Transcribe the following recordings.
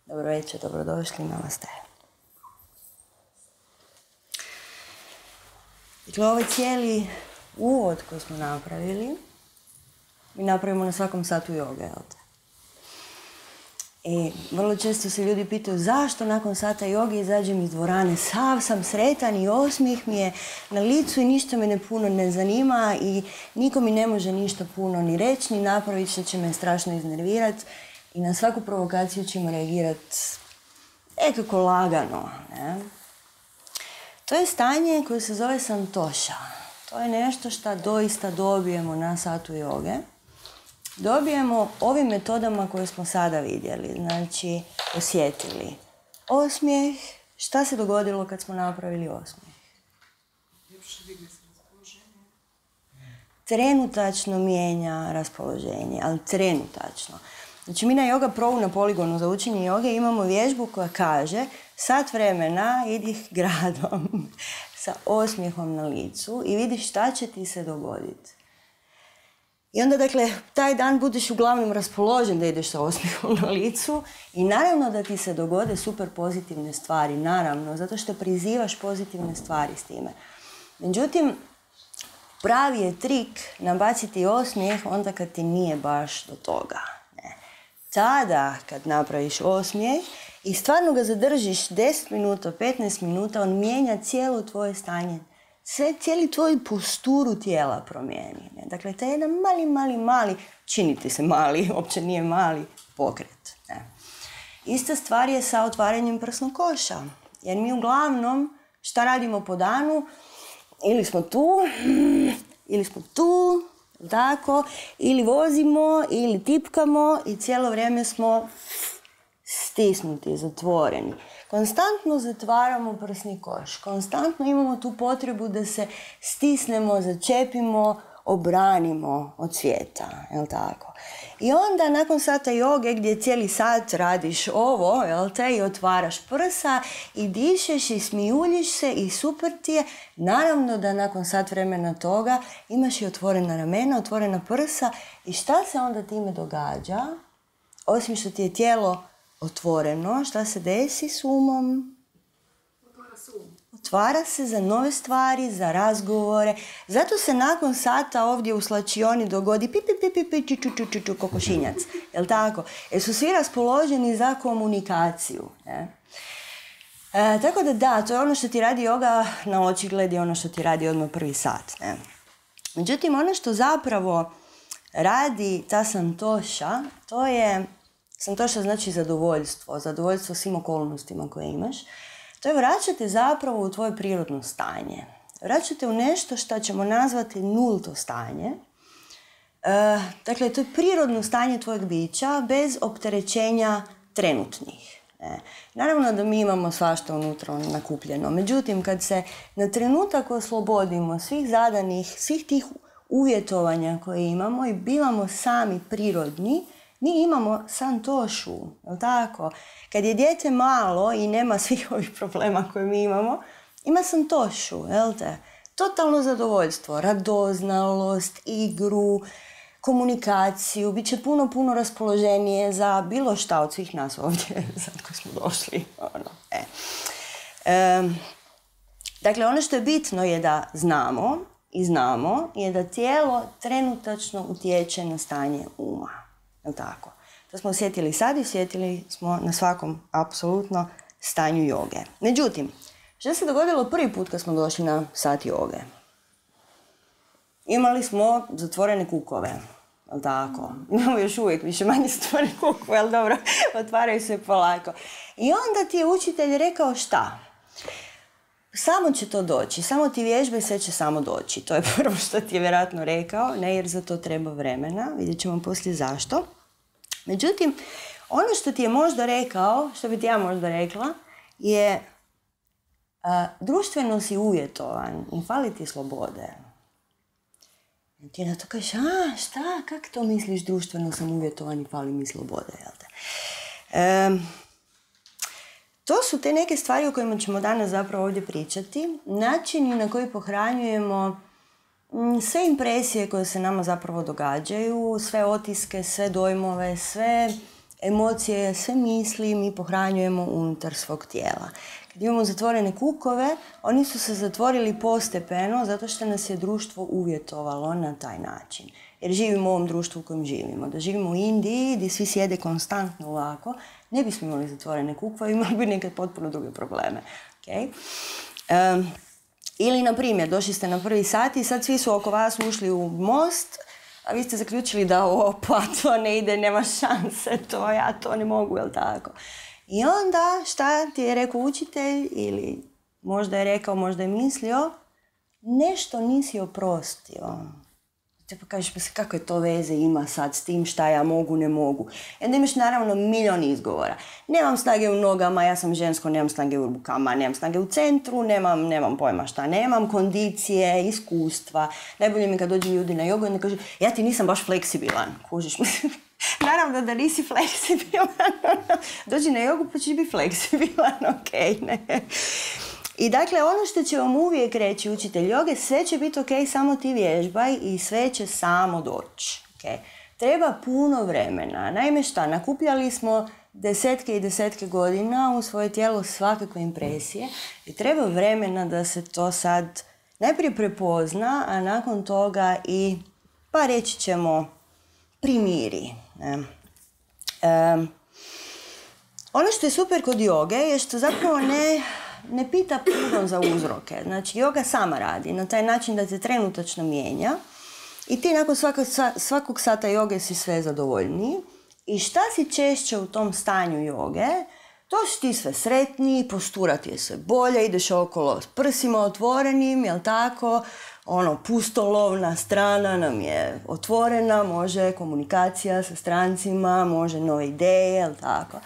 Dobro večer, dobrodošli, namaste. Dakle, ovaj cijeli uvod koji smo napravili, mi napravimo na svakom satu joge, jel te? I vrlo često se ljudi pitaju zašto nakon sata joge izađem iz dvorane, sav sam sretan i osmijeh mi je na licu i ništa me puno ne zanima i niko mi ne može ništa puno ni reći, ni napraviti što će me strašno iznervirati i na svaku provokaciju ćemo reagirati nekako lagano. Ne? To je stanje koje se zove santoša. To je nešto što doista dobijemo na satu joge. Dobijemo ovim metodama koje smo sada vidjeli, znači osjetili osmijeh. Šta se dogodilo kad smo napravili osmijeh? Trenutačno mijenja raspoloženje, ali trenutačno. Znači mi na Yoga Pro na poligonu za učenje joge imamo vježbu koja kaže sat vremena idih gradom sa osmijehom na licu i vidiš šta će ti se dogoditi. I onda, dakle, taj dan budeš uglavnom raspoložen da ideš sa osmijehom na licu i naravno da ti se dogode super pozitivne stvari, naravno, zato što prizivaš pozitivne stvari s time. Međutim, pravi je trik nabaciti osmijeh onda kad ti nije baš do toga. Ne. Tada, kad napraviš osmijeh i stvarno ga zadržiš 10 minuta, 15 minuta, on mijenja cijelo tvoje stanje. Cijeli tvoj posturu tijela promijeni. Ne? Dakle, to je jedan mali, čini ti se mali, uopće nije mali pokret. Ne? Ista stvar je sa otvaranjem prsnog koša. Jer mi uglavnom šta radimo po danu? Ili smo tu, tako, ili vozimo, ili tipkamo i cijelo vrijeme smo stisnuti, zatvoreni. Konstantno zatvaramo prsni koš. Konstantno imamo tu potrebu da se stisnemo, začepimo, obranimo od svijeta. Jel tako? I onda nakon sata joge gdje cijeli sat radiš ovo, jel te, i otvaraš prsa i dišeš i smijuljiš se i super ti je. Naravno da nakon sat vremena toga imaš i otvorena ramena, otvorena prsa i šta se onda time događa? Osim što ti je tijelo otvoreno, šta se desi s umom? Otvara se za nove stvari, za razgovore. Zato se nakon sata ovdje u slačioni dogodi pi, kokošinjac. Jel' tako? Jer su svi raspoloženi za komunikaciju. Ne? Tako da, to je ono što ti radi joga na očigled i ono što ti radi odmah prvi sat. Ne? Međutim, ono što zapravo radi ta santoša, to je santoša znači zadovoljstvo svim okolnostima koje imaš. To je vraćate zapravo u tvoje prirodno stanje. Vraćate u nešto što ćemo nazvati nulto stanje. Dakle, to je prirodno stanje tvojeg bića bez opterećenja trenutnih. Naravno da mi imamo svašta unutra nakupljeno. Međutim, kad se na trenutak oslobodimo svih zadanih, svih tih uvjetovanja koje imamo i bivamo sami prirodni, mi imamo santošu, jel' tako? Kad je dijete malo i nema svih ovih problema koje mi imamo, ima santošu, jel' te? Totalno zadovoljstvo, radoznalost, igru, komunikaciju, bit će puno raspoloženije za bilo šta od svih nas ovdje, sad koji smo došli. Dakle, ono što je bitno je da znamo je da tijelo trenutačno utječe na stanje uma. Tako. To smo osjetili sad i osjetili smo na svakom apsolutno stanju joge. Međutim, što se dogodilo prvi put kad smo došli na sat joge? Imali smo zatvorene kukove. Tako. Imamo još uvijek više manje zatvorene kukove, ali dobro, otvaraju se polako. I onda ti je učitelj rekao šta? Samo će to doći, samo ti vježbe, sve će samo doći. To je prvo što ti je vjerojatno rekao, ne, jer za to treba vremena, vidjet ćemo poslije zašto. Međutim, ono što ti je možda rekao, što bi ti ja možda rekla, je društveno si uvjetovan i fali ti slobode. I ti na to kažeš, šta, kako to misliš, društveno sam uvjetovan i fali mi slobode, jel te? To su te neke stvari o kojima ćemo danas zapravo ovdje pričati. Načini na koji pohranjujemo sve impresije koje se nama zapravo događaju, sve otiske, sve dojmove, sve emocije, sve misli mi pohranjujemo unutar svog tijela. Kad imamo zatvorene kukove, oni su se zatvorili postepeno zato što nas je društvo uvjetovalo na taj način. Jer živimo u ovom društvu u kojem živimo. Da živimo u Indiji, gdje svi sjede konstantno ovako, ne bismo imali zatvorene kukove, imali bi nekad potpuno druge probleme. Okay? Ili, na primjer, došli ste na 1. sat i sad svi su oko vas ušli u most, a vi ste zaključili da opa, to ne ide, nema šanse, ja to ne mogu, jel tako? I onda šta ti je rekao učitelj ili možda je rekao, možda je mislio, nešto nisi oprostio. Te pa kažeš, kako je to veze ima sad s tim šta ja mogu, ne mogu. I onda imaš naravno milion izgovora. Nemam snage u nogama, ja sam žensko, nemam snage u rukama, nemam snage u centru, nemam pojma šta, nemam kondicije, iskustva. Najbolje mi kad dođu ljudi na jogu i onda kažu, ja ti nisam baš fleksibilan, kužiš. Naravno da nisi fleksibilan. Dođi na jogu pa ćeš biti fleksibilan, ok, ne. I dakle, ono što će vam uvijek reći učitelj joge, sve će biti ok, samo ti vježbaj i sve će samo doći. Okay? Treba puno vremena. Naime šta, nakupljali smo desetke i desetke godina u svoje tijelo svakakve impresije i treba vremena da se to sad najprije prepozna, a nakon toga i, pa reći ćemo, primiri. Ono što je super kod joge je što zapravo ne pita puno za uzroke. Znači, joga sama radi na taj način da te trenutačno mijenja i ti nakon svakog sata joge si sve zadovoljniji. I šta si češće u tom stanju joge, to si ti sve sretniji, postura ti je sve bolje, ideš okolo s prsima otvorenim, jel tako? Pustolovna strana nam je otvorena, može komunikacija sa strancima, može nove ideje, jel tako?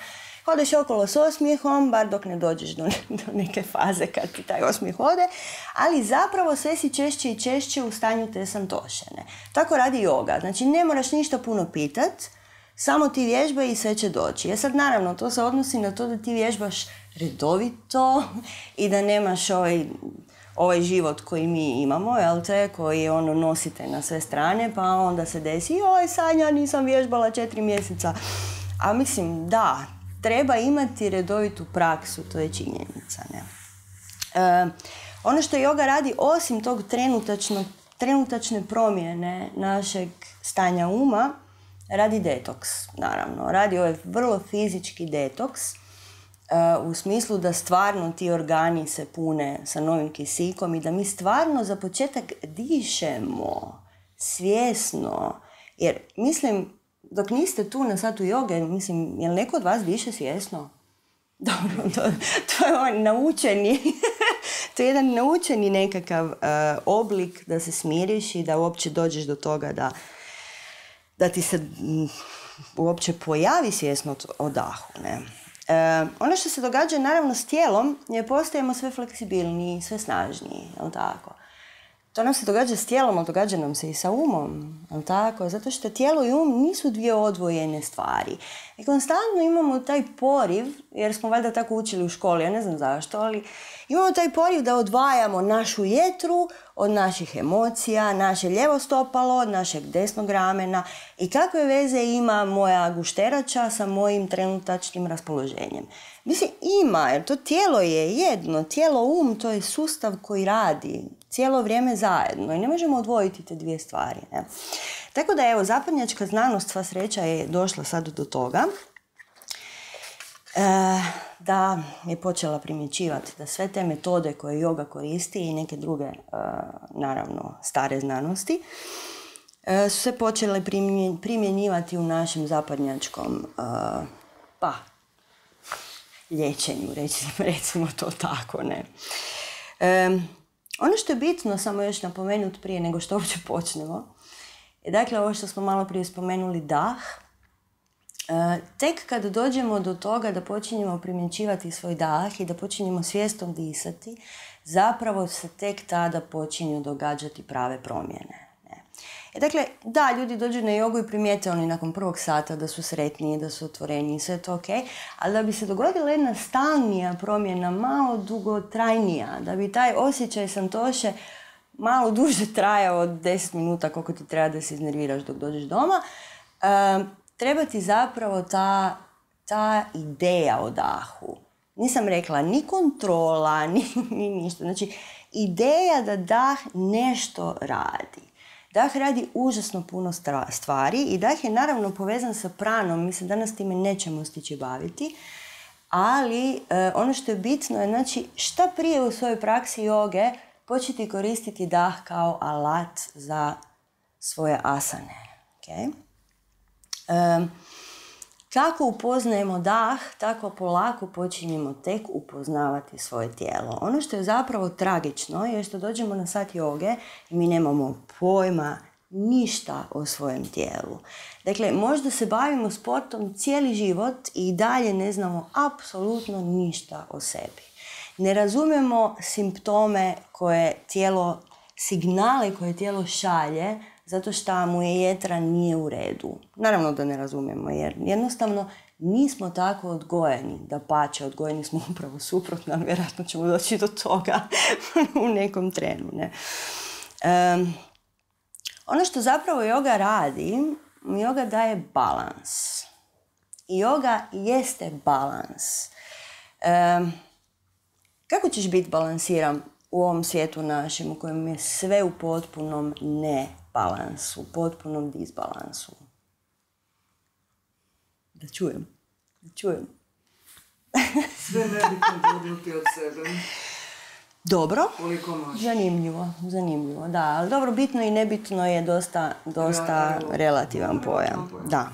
Hodeš okolo s osmijehom, bar dok ne dođeš do neke faze kad ti taj osmijeh ode, ali zapravo sve si češće i češće u stanju te santošene. Tako radi joga. Znači, ne moraš ništa puno pitat, samo ti vježbaj i sve će doći. Sad, naravno, to se odnosi na to da ti vježbaš redovito i da nemaš ovaj život koji mi imamo, jel te, koji nosite na sve strane, pa onda se desi, Sanja, nisam vježbala 4 mjeseca. A mislim, da, treba imati redovitu praksu, to je činjenica. Ne? Ono što joga radi, osim tog trenutačne promjene našeg stanja uma, radi detoks, naravno. Radi ovaj vrlo fizički detoks, u smislu da stvarno ti organi se pune sa novim kisikom i da mi stvarno za početak dišemo svjesno. Jer, mislim, dok niste tu na satu joge, mislim, jel neko od vas diše svjesno? Dobro, to je naučeni, to je jedan naučeni nekakav oblik da se smiriš i da uopće dođeš do toga da ti se uopće pojavi svjesnost o dahu. Ne? Ono što se događa naravno s tijelom je postajemo sve fleksibilniji, sve snažniji, jel tako? To nam se događa s tijelom, ali događa nam se i sa umom, jel tako? Zato što tijelo i um nisu dvije odvojene stvari. I konstantno imamo taj poriv, jer smo valjda tako učili u školi, ja ne znam zašto, ali imamo taj poriv da odvajamo našu jetru od naših emocija, naše lijevo stopalo od našeg desnog ramena i kakve veze ima moja gušterača sa mojim trenutačnim raspoloženjem. Mislim, ima, jer to tijelo je jedno, tijelo to je sustav koji radi cijelo vrijeme zajedno i ne možemo odvojiti te dvije stvari. Ne? Tako da, evo, zapadnjačka znanost, sva sreća, je došla sad do toga da je počela primjećivati da sve te metode koje joga koristi i neke druge, naravno, stare znanosti, su se počele primjenjivati u našem zapadnjačkom liječenju, recimo to tako, ne. Ono što je bitno samo još napomenuti prije nego što uopće počnemo, je dakle ovo što smo malo prije spomenuli, dah. Tek kad dođemo do toga da počinjemo primjećivati svoj dah i da počinjemo svjesno disati, zapravo se tek tada počinju događati prave promjene. Dakle, da, ljudi dođu na jogu i primijete oni nakon prvog sata da su sretniji, da su otvoreniji, sve je to ok, ali da bi se dogodila jedna stalnija promjena, malo dugotrajnija, da bi taj osjećaj santoše malo duže trajao od 10 minuta koliko ti treba da se iznerviraš dok dođeš doma, treba ti zapravo ta ta ideja o dahu. Nisam rekla ni kontrola, ni ništa. Znači, ideja da dah nešto radi. Dah radi užasno puno stvari i dah je naravno povezan sa pranom. Mislim, danas time nećemo stići baviti. Ali ono što je bitno je, znači, šta prije u svojoj praksi joge početi koristiti dah kao alat za svoje asane. Okay? Kako upoznajemo dah, tako polako počinjemo tek upoznavati svoje tijelo. Ono što je zapravo tragično je što dođemo na sat joge i mi nemamo pojma ništa o svojem tijelu. Dakle, možda se bavimo sportom cijeli život i dalje ne znamo apsolutno ništa o sebi. Ne razumijemo simptome koje tijelo, signale koje tijelo šalje zato što mu je jetra nije u redu. Naravno da ne razumijemo jer jednostavno nismo tako odgojeni. Dapače, odgojeni smo upravo suprotno, ali vjerojatno ćemo doći do toga u nekom trenu. Ne? Ono što zapravo joga radi, joga daje balans. I joga jeste balans. Kako ćeš biti balansiran u ovom svijetu našem u kojem je sve u potpunom nebalansu, u potpunom disbalansu? Da čujem. Sve nebitno gurnuti od sebe. Dobro. Koliko može. Zanimljivo, da. Ali dobro, bitno i nebitno je dosta relativan pojam. Da.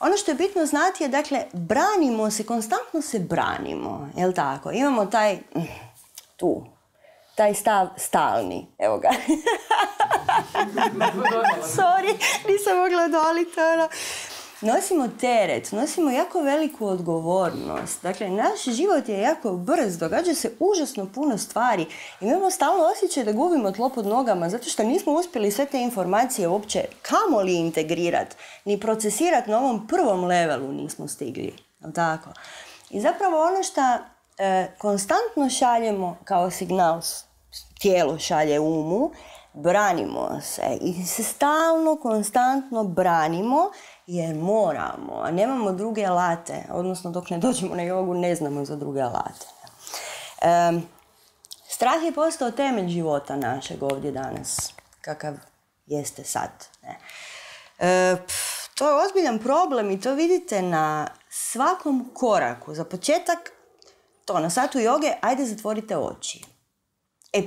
Ono što je bitno znati je, dakle, branimo se, konstantno se branimo, jel tako? Imamo taj stav stalni, evo ga. Sorry, nisam mogla odoliti, ono. Nosimo teret, nosimo jako veliku odgovornost. Dakle, naš život je jako brz, događa se užasno puno stvari. Imamo stalno osjećaj da gubimo tlo pod nogama, zato što nismo uspjeli sve te informacije uopće kamoli integrirati, ni procesirati na ovom prvom levelu nismo stigli. Tako? I zapravo ono što konstantno šaljemo kao signal, tijelo šalje umu, branimo se i se stalno, konstantno branimo jer moramo, a nemamo druge alate, odnosno dok ne dođemo na jogu ne znamo za druge alate. Strah je postao temelj života našeg ovdje danas, kakav jeste sad. To je ozbiljan problem i to vidite na svakom koraku. Za početak, na satu joge, ajde zatvorite oči.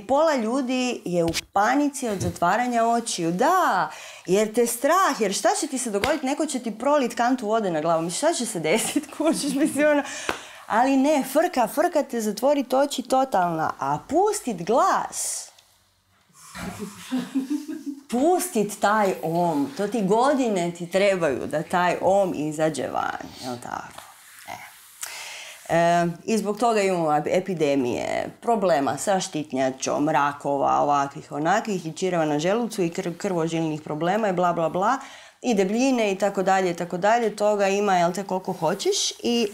Pola ljudi je u panici od zatvaranja očiju. Da, jer te strah, jer šta će ti se dogoditi? Neko će ti prolit kantu vode na glavu. Šta će se desiti? Kužiš, mislim, ali ne, frka te zatvoriti oči totalna. A pustit glas. Pustit taj om. To ti godine ti trebaju da taj om izađe van. Jel tako? I zbog toga imamo epidemije, problema sa štitnjačom, rakova, ovakvih, onakvih, i čireva na želucu i krvožilnih problema i bla, bla, bla, i debljine i tako dalje, toga ima, jel te, koliko hoćeš. I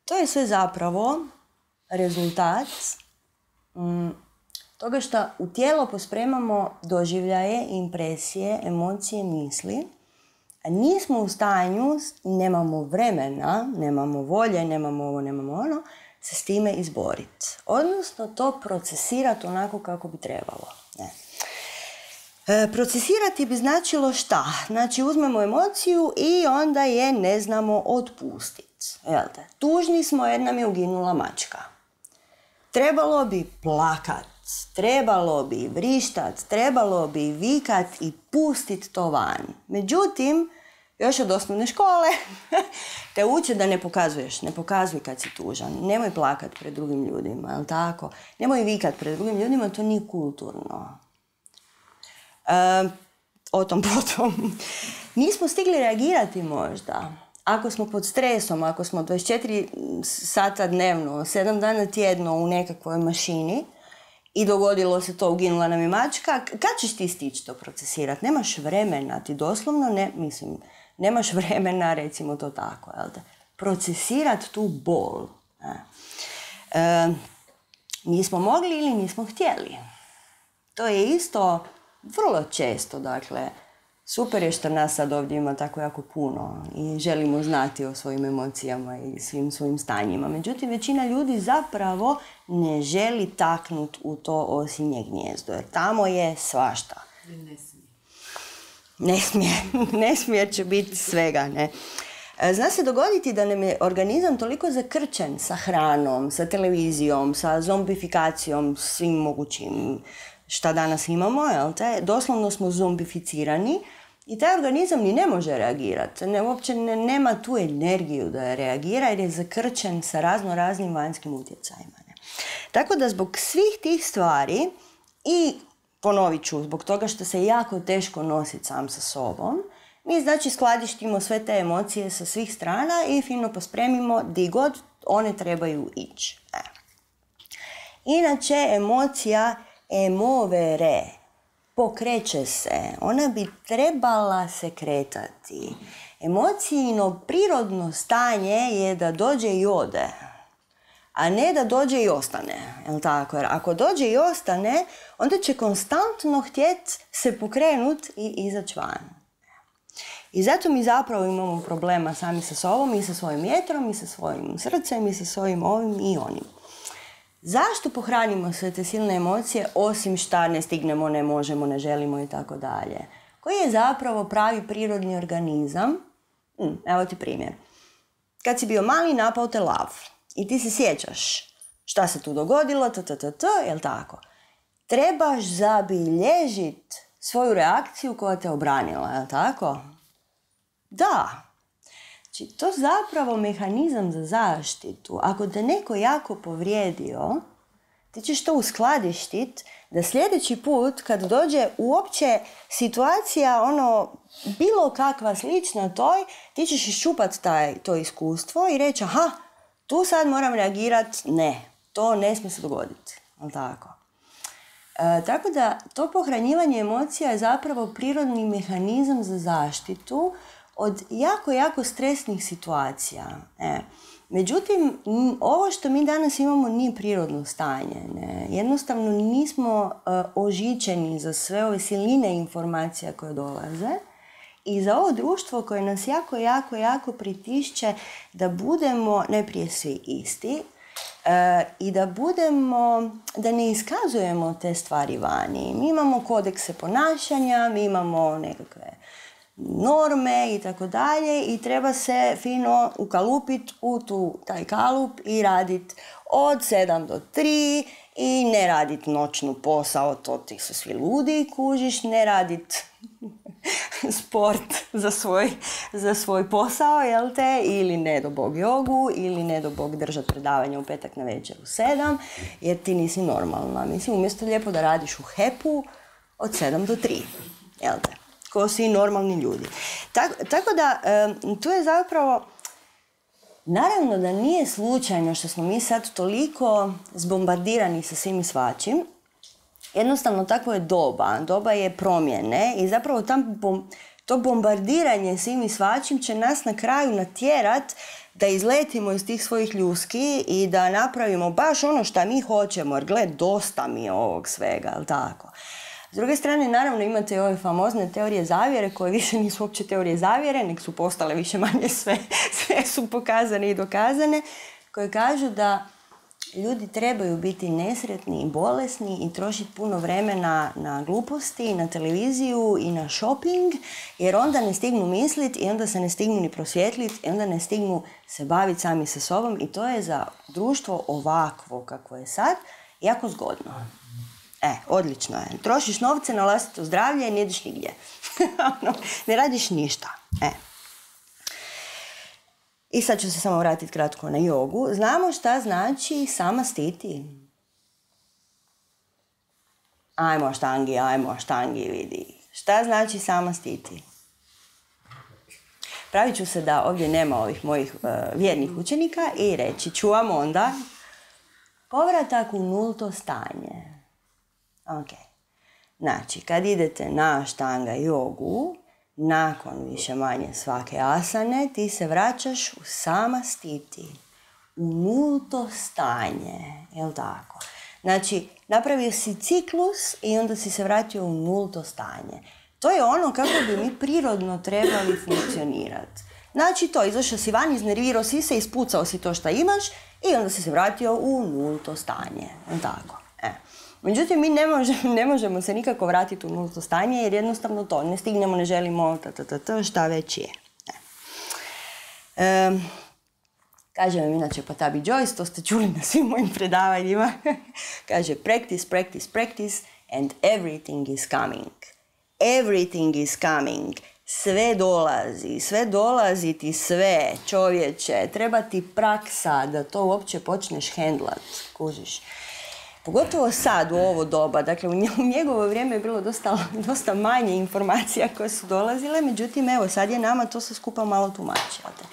to je sve zapravo rezultat toga što u tijelo pospremamo doživljaje, impresije, emocije, misli. A nismo u stanju, nemamo vremena, nemamo volje, nemamo ovo, nemamo ono, se s time izboriti. Odnosno to procesirati onako kako bi trebalo. Procesirati bi značilo šta? Znači uzmemo emociju i onda je ne znamo otpustiti. Tužni smo jer nam je uginula mačka. Trebalo bi plakat, trebalo bi vrištat, trebalo bi vikat i pustit to van. Međutim, još od osnovne škole te uče da ne pokazuješ, ne pokazuj kad si tužan. Nemoj plakat pred drugim ljudima, jel tako? Nemoj vikat pred drugim ljudima, to nije kulturno. O tom potom. Nismo stigli reagirati možda. Ako smo pod stresom, ako smo 24 sata dnevno, 7 dana tjedno u nekakvoj mašini i dogodilo se to, uginula nam je mačka, kad ćeš ti stići to procesirati? Nemaš vremena, ti doslovno nemaš vremena, recimo to tako, jel te? Procesirati tu bol. Nismo mogli ili nismo htjeli. To je isto vrlo često, dakle, super je što nas sad ovdje ima tako jako puno i želimo znati o svojim emocijama i svim svojim stanjima. Međutim, većina ljudi zapravo ne želi taknut u to osinje gnijezdo, jer tamo je svašta. Ne smije će biti svega, ne. Zna se dogoditi da nam je organizam toliko zakrčen sa hranom, sa televizijom, sa zombifikacijom, svim mogućim šta danas imamo, jel te? Doslovno smo zombificirani i taj organizam ni ne može reagirati. Uopće nema tu energiju da reagira jer je zakrčen sa raznim vanjskim utjecajima. Ne? Tako da zbog svih tih stvari i ponovit ću, zbog toga što se jako teško nositi sam sa sobom, mi znači skladištimo sve te emocije sa svih strana i fino pospremimo di god one trebaju ići. Inače, emocija emovere, pokreće se, ona bi trebala se kretati. Emocijino prirodno stanje je da dođe i ode, a ne da dođe i ostane. Jel tako? Jer ako dođe i ostane, onda će konstantno htjeti se pokrenut i izaći van. I zato mi zapravo imamo problema sami sa sobom i sa svojim jetrom i sa svojim srcem i sa svojim ovim i onim. Zašto pohranimo sve te silne emocije osim šta ne stignemo, ne možemo, ne želimo i tako dalje? Koji je zapravo pravi prirodni organizam? Evo ti primjer. Kad si bio mali, napao te lav i ti se sjećaš šta se tu dogodilo, jel tako? Trebaš zabilježiti svoju reakciju koja te obranila, jel tako? Da. Znači, to je zapravo mehanizam za zaštitu. Ako te neko jako povrijedio, ti ćeš to uskladištiti da sljedeći put kad dođe uopće situacija, bilo kakva slična toj, ti ćeš iščupati to iskustvo i reći, aha, tu sad moram reagirati, ne, to ne smije se dogoditi. Tako. Tako da to pohranjivanje emocija je zapravo prirodni mehanizam za zaštitu od jako stresnih situacija. Međutim, ovo što mi danas imamo nije prirodno stanje. Ne? Jednostavno nismo ožičeni za sve ove siline informacija koje dolaze i za ovo društvo koje nas jako pritišće da budemo najprije svi isti i da ne iskazujemo te stvari vani. Mi imamo kodekse ponašanja, mi imamo nekakve norme i tako dalje i treba se fino ukalupiti u taj kalup i raditi od 7 do 3 i ne raditi noćnu posao, to ti su svi ludi, kužiš, ne raditi sport za svoj posao, jel te, ili ne do bog jogu, ili ne do bog držati predavanje u petak na večer u 7, jer ti nisi normalna. Mislim, umjesto lijepo da radiš u HEP-u od 7 do 3, jel te, ko svi normalni ljudi. Tako da, tu je zapravo, naravno da nije slučajno što smo mi sad toliko zbombardirani sa svim i svačim. Jednostavno, takvo je doba je promjene i zapravo to bombardiranje svim i svačim će nas na kraju natjerat da izletimo iz tih svojih ljuski i da napravimo baš ono što mi hoćemo, jer gled, dosta mi je ovog svega, ali tako. S druge strane, naravno, imate i ove famozne teorije zavjere, koje više nisu uopće teorije zavjere, nek su postale više manje sve su pokazane i dokazane, koje kažu da ljudi trebaju biti nesretni i bolesni i trošiti puno vremena na gluposti, na televiziju i na shopping, jer onda ne stignu misliti i onda se ne stignu ni prosvjetliti i onda ne stignu se baviti sami sa sobom i to je za društvo ovakvo kako je sad jako zgodno. Odlično je. Trošiš novce na vlastito zdravlje i ne ideš nigdje. Ne radiš ništa. I sad ću se samo vratiti kratko na jogu. Znamo šta znači sama stiti. Ajmo štangi, vidi. Šta znači sama stiti? Pravit ću se da ovdje nema ovih mojih vjernih učenika i reći ću vam onda povratak u nulto stanje. Ok. Znači, kad idete na štanga jogu, nakon više manje svake asane, ti se vraćaš u sama stiti, u nulto stanje, jel tako? Znači, napravio si ciklus i onda si se vratio u nulto stanje. To je ono kako bi mi prirodno trebali funkcionirati. Znači to, izašao si van, iznervirao si se, ispucao si to što imaš i onda si se vratio u nulto stanje. Tako. Međutim, mi ne možemo se nikako vratiti u nulto stanje jer jednostavno to ne stignemo, ne želimo, šta već je. Kaže vam inače Patabi Joyce, to ste čuli na svim mojim predavanjima. Kaže practice, practice, practice and everything is coming. Everything is coming. Sve dolazi ti sve, čovječe. Treba ti praksa da to uopće počneš hendlat, kužiš. Pogotovo sad u ovo doba, dakle u njegovo vrijeme je bilo dosta manje informacija koje su dolazile, međutim evo sad je nama to sve skupa malo tumačiti.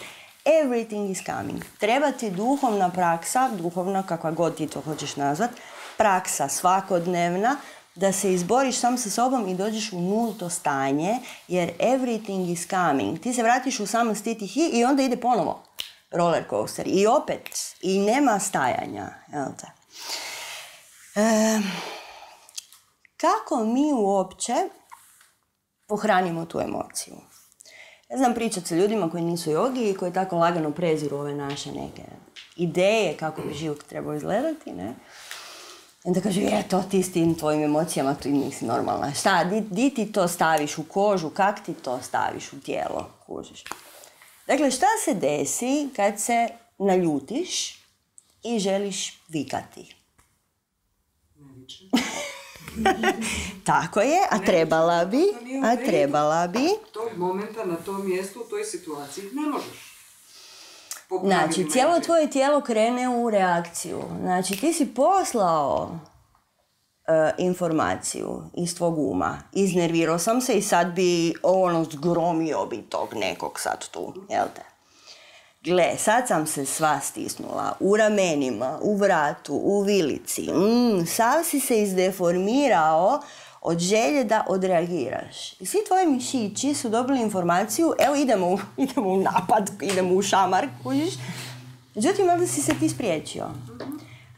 Everything is coming. Treba ti duhovna praksa, duhovna kakva god ti to hoćeš nazvat, praksa svakodnevna, da se izboriš sam sa sobom i dođeš u nulto stanje, jer everything is coming. Ti se vratiš u sam stiti i onda ide ponovo roller coaster. I opet, i nema stajanja. Kako mi uopće pohranimo tu emociju? Ja znam pričati sa ljudima koji nisu jogi i koji tako lagano preziru ove naše neke ideje kako bi život trebao izgledati, ne? I onda kažu, to ti s tim tvojim emocijama, tu nisi normalna. Šta, di ti to staviš u kožu, kak ti to staviš u tijelo, kužiš? Dakle, šta se desi kad se naljutiš i želiš vikati? Tako je, a trebala bi. Tog momenta na tom mjestu, u toj situaciji ne možeš. Znači, cijelo tvoje tijelo krene u reakciju. Znači, ti si poslao informaciju iz tvog uma. Iznervirao sam se i sad bi zgromio bi tog nekog sad tu, jel te? Gle, sad sam se sva stisnula, u ramenima, u vratu, u vilici. Sav si se izdeformirao od želje da odreagiraš. I svi tvoji mišići su dobili informaciju, evo idemo u napad, idemo u šamar, kužiš. Međutim, onda si se ti spriječio.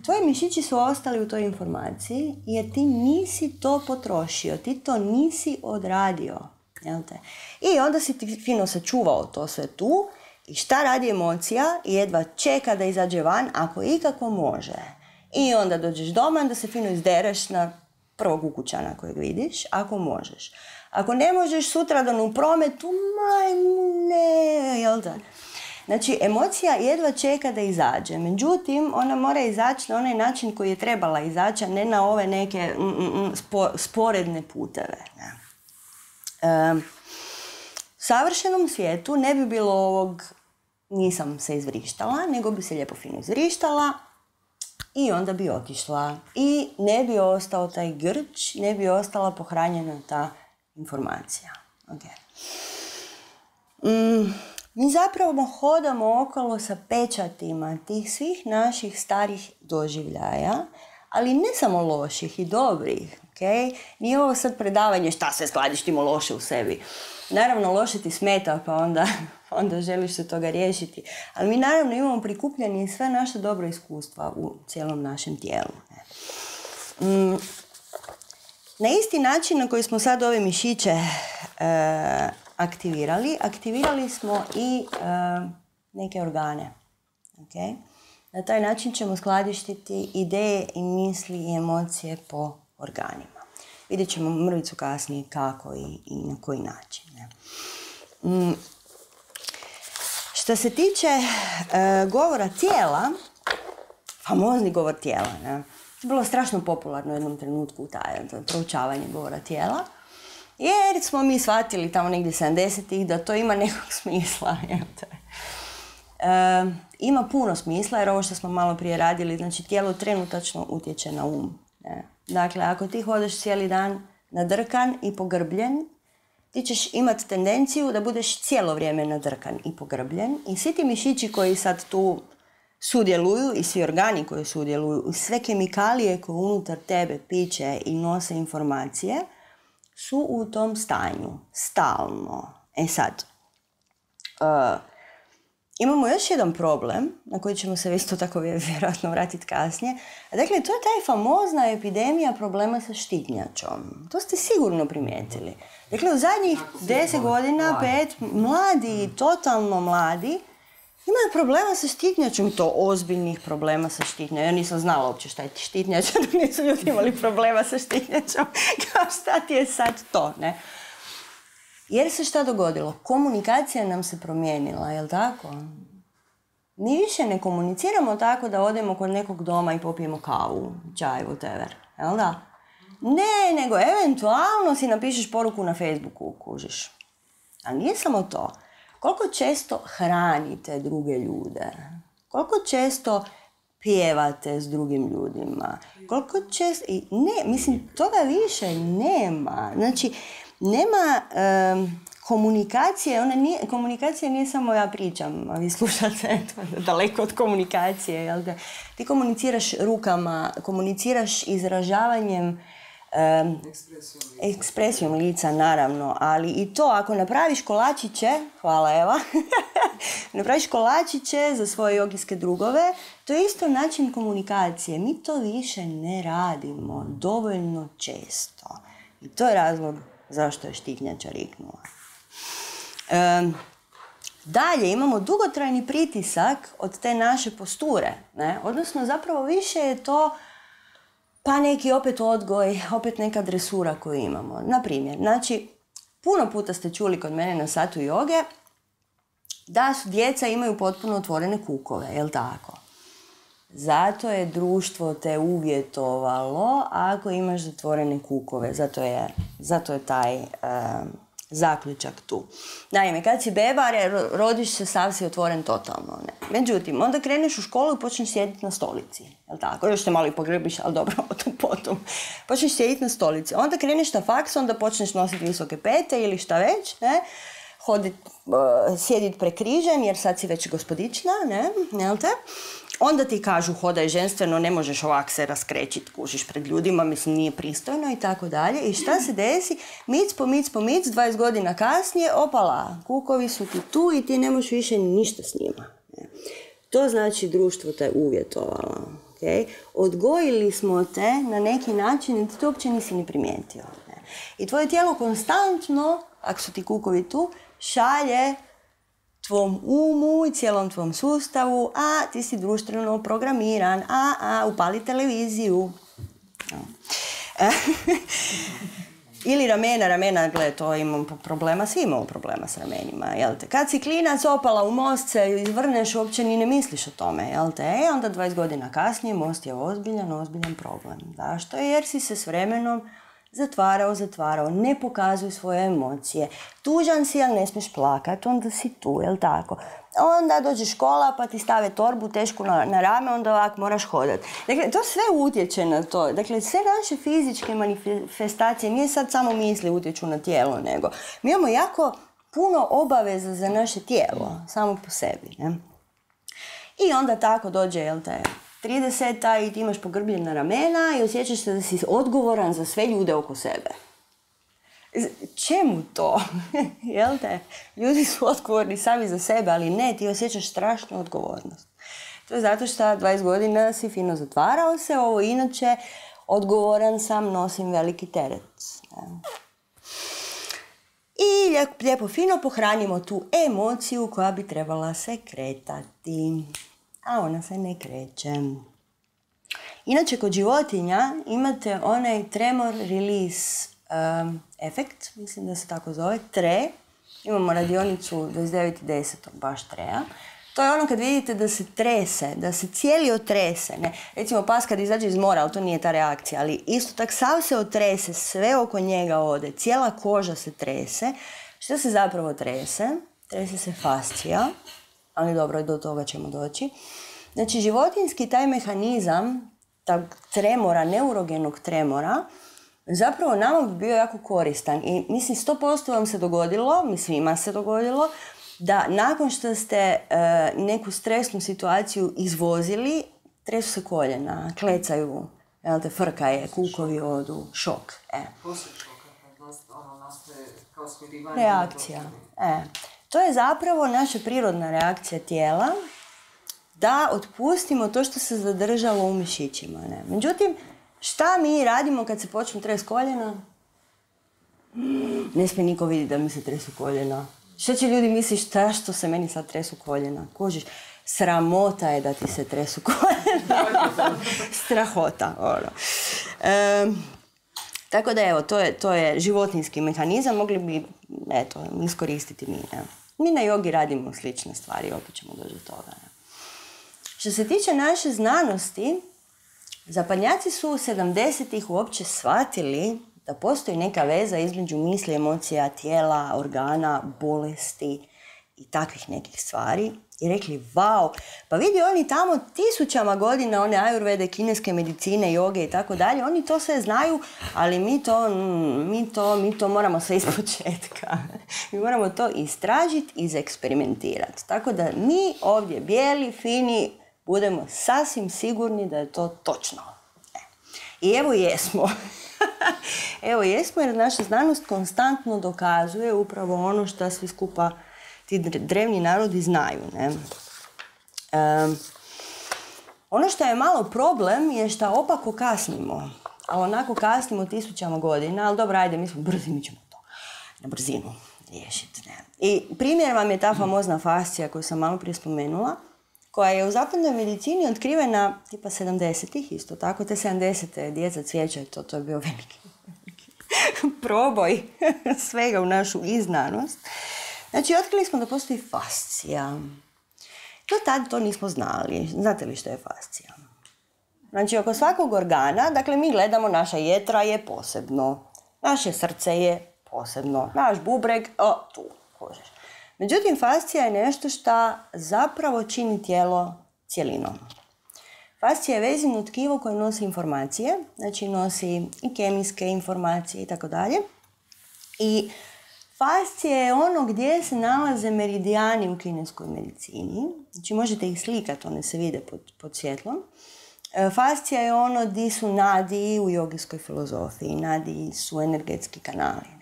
Tvoji mišići su ostali u toj informaciji jer ti nisi to potrošio, ti to nisi odradio. Jel te? I onda si ti fino sačuvao to sve tu. I šta radi emocija? Jedva čeka da izađe van, ako ikako može. I onda dođeš doma, onda se fino izdereš na prvog ukućana kojeg vidiš, ako možeš. Ako ne možeš sutradan u prometu, majmune, jel da? Znači, emocija jedva čeka da izađe. Međutim, ona mora izaći na onaj način koji je trebala izaći, a ne na ove neke sporedne puteve. U savršenom svijetu ne bi bilo ovog nisam se izvrištala, nego bi se lijepo fino izvrištala i onda bi otišla. I ne bi ostao taj grč, ne bi ostala pohranjena ta informacija. Okay. Mi zapravo hodamo okolo sa pečatima tih svih naših starih doživljaja, ali ne samo loših i dobrih. Okay? Nije ovo sad predavanje šta se skladištimo loše u sebi. Naravno, loše ti smeta, pa onda želiš se toga riješiti. Ali mi naravno imamo prikupljeni sve naše dobro iskustva u cijelom našem tijelu. Na isti način na koji smo sad ove mišiće aktivirali smo i neke organe. Okay? Na taj način ćemo skladištiti ideje i misli i emocije po organima. Vidjet ćemo mrvicu kasnije kako i na koji način. Što se tiče govora tijela, famozni govor tijela, ne? To je bilo strašno popularno u jednom trenutku to proučavanje govora tijela, jer smo mi shvatili tamo negdje 70-ih da to ima nekog smisla. Ima puno smisla jer ovo što smo malo prije radili, znači tijelo trenutačno utječe na um. Ne? Dakle, ako ti hodeš cijeli dan nadrkan i pogrbljen, ti ćeš imati tendenciju da budeš cijelo vrijeme nadrkan i pogrbljen i svi ti mišići koji sad tu sudjeluju i svi organi koji sudjeluju, sve kemikalije koje unutar tebe piče i nose informacije su u tom stanju, stalno. E sad, imamo još jedan problem, na koji ćemo se isto tako vjerojatno vratiti kasnije. Dakle, to je taj famozna epidemija problema sa štitnjačom. To ste sigurno primijetili. Dakle, u zadnjih 10 godina, 5, mladi, totalno mladi, imaju problema sa štitnjačom, to ozbiljnih problema sa štitnjačom. Ja nisam znala uopće šta je štitnjača, dok nisu ljudi imali problema sa štitnjačom. Kao šta ti je sad to, ne? Jer se šta dogodilo? Komunikacija nam se promijenila, jel tako? Mi više ne komuniciramo tako da odemo kod nekog doma i popijemo kavu, čaj, whatever, jel da? Ne, nego eventualno si napišeš poruku na Facebooku, kužiš. Ali nije samo to. Koliko često hranite druge ljude? Koliko često pjevate s drugim ljudima? Koliko često... Ne, mislim, toga više nema. Znači, nema komunikacije. Komunikacija nije samo ja pričam, a vi slušate daleko od komunikacije. Jel da? Ti komuniciraš rukama, komuniciraš izražavanjem ekspresijom lica, naravno, ali i to, ako napraviš kolačiće, hvala Eva, napraviš kolačiće za svoje jogijske drugove, to je isto način komunikacije. Mi to više ne radimo dovoljno često. I to je razlog zašto je štitnjača riknula. Dalje, imamo dugotrajni pritisak od te naše posture, ne? Odnosno, zapravo više je to pa neki opet odgoj, opet neka dresura koju imamo. Naprimjer, znači, puno puta ste čuli kod mene na satu joge da su djeca imaju potpuno otvorene kukove, jel tako? Zato je društvo te uvjetovalo ako imaš zatvorene kukove. Zato je taj zaključak tu. Naime, kad si bebar, rodiš se, sav si otvoren totalno. Ne? Međutim, onda kreneš u školu i počneš sjediti na stolici. Jel tako? Još te malo i pogrebiš, ali dobro, o tom potom. Počneš sjediti na stolici. Onda kreneš na faks, onda počneš nositi visoke pete ili šta već, ne? Sjediti prekrižen, jer sad si već gospodična, ne? Jel te? Onda ti kažu hodaj ženstveno, ne možeš ovak se raskrećit, kužiš pred ljudima, mislim nije pristojno i tako dalje. I šta se desi? Mic po mic, 20 godina kasnije, opala, kukovi su ti tu i ti ne možeš više ništa s njima. To znači društvo te uvjetovalo. Okay? Odgojili smo te na neki način i ti to uopće nisi ni primijetio. I tvoje tijelo konstantno, ako su ti kukovi tu, šalje tvom umu i cijelom tvom sustavu, a ti si društveno programiran, upali televiziju. Ili ramena, gle, to imam problema, svi imamo problema s ramenima, jel te? Kad si klinac opala u most se izvrneš, uopće ni ne misliš o tome, jel te? Onda 20 godina kasnije most je ozbiljan problem. Zašto? Jer si se s vremenom zatvarao, ne pokazuj svoje emocije. Tužan si, ali ne smiješ plakat, onda si tu, jel tako? Onda dođe škola pa ti stave torbu tešku na rame, onda ovak moraš hodati. Dakle, to sve utječe na to. Dakle, sve naše fizičke manifestacije, nije sad samo misli utječu na tijelo, nego mi imamo jako puno obaveza za naše tijelo, samo po sebi. Ne? I onda tako dođe, jel te, 30-ta i ti imaš pogrbljena ramena i osjećaš se da si odgovoran za sve ljude oko sebe. Čemu to? Jel te? Ljudi su odgovorni sami za sebe, ali ne, ti osjećaš strašnu odgovornost. To je zato što 20 godina si fino zatvarao se, ovo inače odgovoran sam, nosim veliki teret. I lijepo fino pohranimo tu emociju koja bi trebala se kretati. A ona se ne kreće. Inače, kod životinja imate onaj tremor release efekt, mislim da se tako zove, TRE. Imamo radionicu 29.10. baš TRE-a. To je ono kad vidite da se trese, da se cijeli otrese. Ne? Recimo pas kad izađe iz mora, ali to nije ta reakcija, ali isto tak sav se otrese, sve oko njega ode, cijela koža se trese. Što se zapravo trese? Trese se fascija, ali dobro, do toga ćemo doći. Znači, životinjski taj mehanizam, tog tremora, neurogenog tremora, zapravo nama bi bio jako koristan. I mislim, 100% vam se dogodilo, svima se dogodilo, da nakon što ste neku stresnu situaciju izvozili, tresu se koljena, klecaju, frka je, kukovi odu, šok. Poslije šoka, kad nastaje kao smirivanje. Reakcija. To je zapravo naša prirodna reakcija tijela da otpustimo to što se zadržalo u mišićima. Ne? Međutim, šta mi radimo kad se počnu trest koljena? Ne smije niko vidjeti da mi se tresu koljena. Što će ljudi misliti što se meni sad tresu koljena? Kužiš, sramota je da ti se tresu koljena. Strahota. Ono. Tako da evo, to je životinjski mehanizam, mogli bi iskoristiti mi. Ne? Mi na jogi radimo slične stvari, opet ćemo doći do toga. Ne? Što se tiče naše znanosti, zapadnjaci su 70-ih uopće shvatili da postoji neka veza između misli, emocija, tijela, organa, bolesti i takvih nekih stvari. I rekli, vau, pa vidi oni tamo tisućama godina, one ajurvede, kineske medicine, joge i tako dalje, oni to sve znaju, ali mi to moramo sve ispočetka. Mi moramo to istražiti, izeksperimentirati. Tako da mi ovdje bijeli, fini, budemo sasvim sigurni da je to točno. I evo jesmo. Evo jesmo jer naša znanost konstantno dokazuje upravo ono što svi skupa ti drevni narodi znaju. Ne? Ono što je malo problem je što opako kasnimo. A onako kasnimo tisućama godina, ali dobro, ajde, mi smo brzi, mi ćemo to na brzinu riješiti. Ne? I primjer vam je ta famozna fascija koju sam malo prije spomenula, koja je u zapadnoj medicini otkrivena tipa 70-ih, isto tako, te 70-te djeca cvijeća, to je bio veliki proboj svega u našu iznanost. Znači, otkrili smo da postoji fascija. Do tada to nismo znali. Znate li što je fascija? Znači, oko svakog organa, dakle, mi gledamo, naša jetra je posebno, naše srce je posebno, naš bubreg, tu, kožeš. Međutim, fascija je nešto što zapravo čini tijelo cjelinom. Fascija je vezino tkivo koje nosi informacije, znači nosi i kemijske informacije i tako dalje. I fascija je ono gdje se nalaze meridijani u kineskoj medicini. Znači možete ih slikati, one se vide pod svjetlom. Fascija je ono gdje su nadiji u jogijskoj filozofiji. Nadiji su energetski kanali.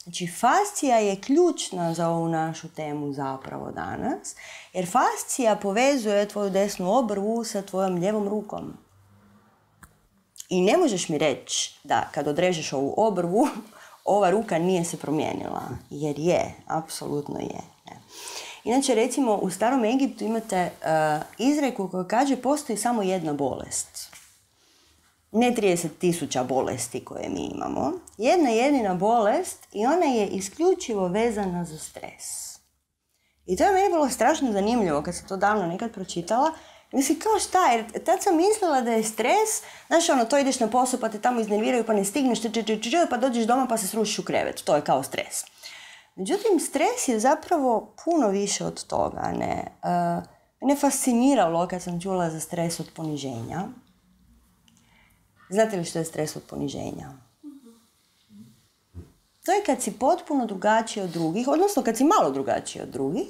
Znači, fascija je ključna za ovu našu temu zapravo danas, jer fascija povezuje tvoju desnu obrvu sa tvojom lijevom rukom. I ne možeš mi reći da kad odrežeš ovu obrvu, ova ruka nije se promijenila, jer je, apsolutno je. Inače, recimo, u starom Egiptu imate izreku koja kaže postoji samo jedna bolest. Ne 30.000 bolesti koje mi imamo. Jedna jedina bolest i ona je isključivo vezana za stres. I to je meni bilo strašno zanimljivo kad sam to davno nekad pročitala. Mislim, kao šta? Jer tad sam mislila da je stres, znaš ono, to ideš na posao pa te tamo iznerviraju pa ne stigneš, pa dođeš doma pa se srušiš u krevet. To je kao stres. Međutim, stres je zapravo puno više od toga. Mene fasciniralo kad sam čula za stres od poniženja. Znate li što je stres od poniženja? To je kad si potpuno drugačiji od drugih, odnosno kad si malo drugačiji od drugih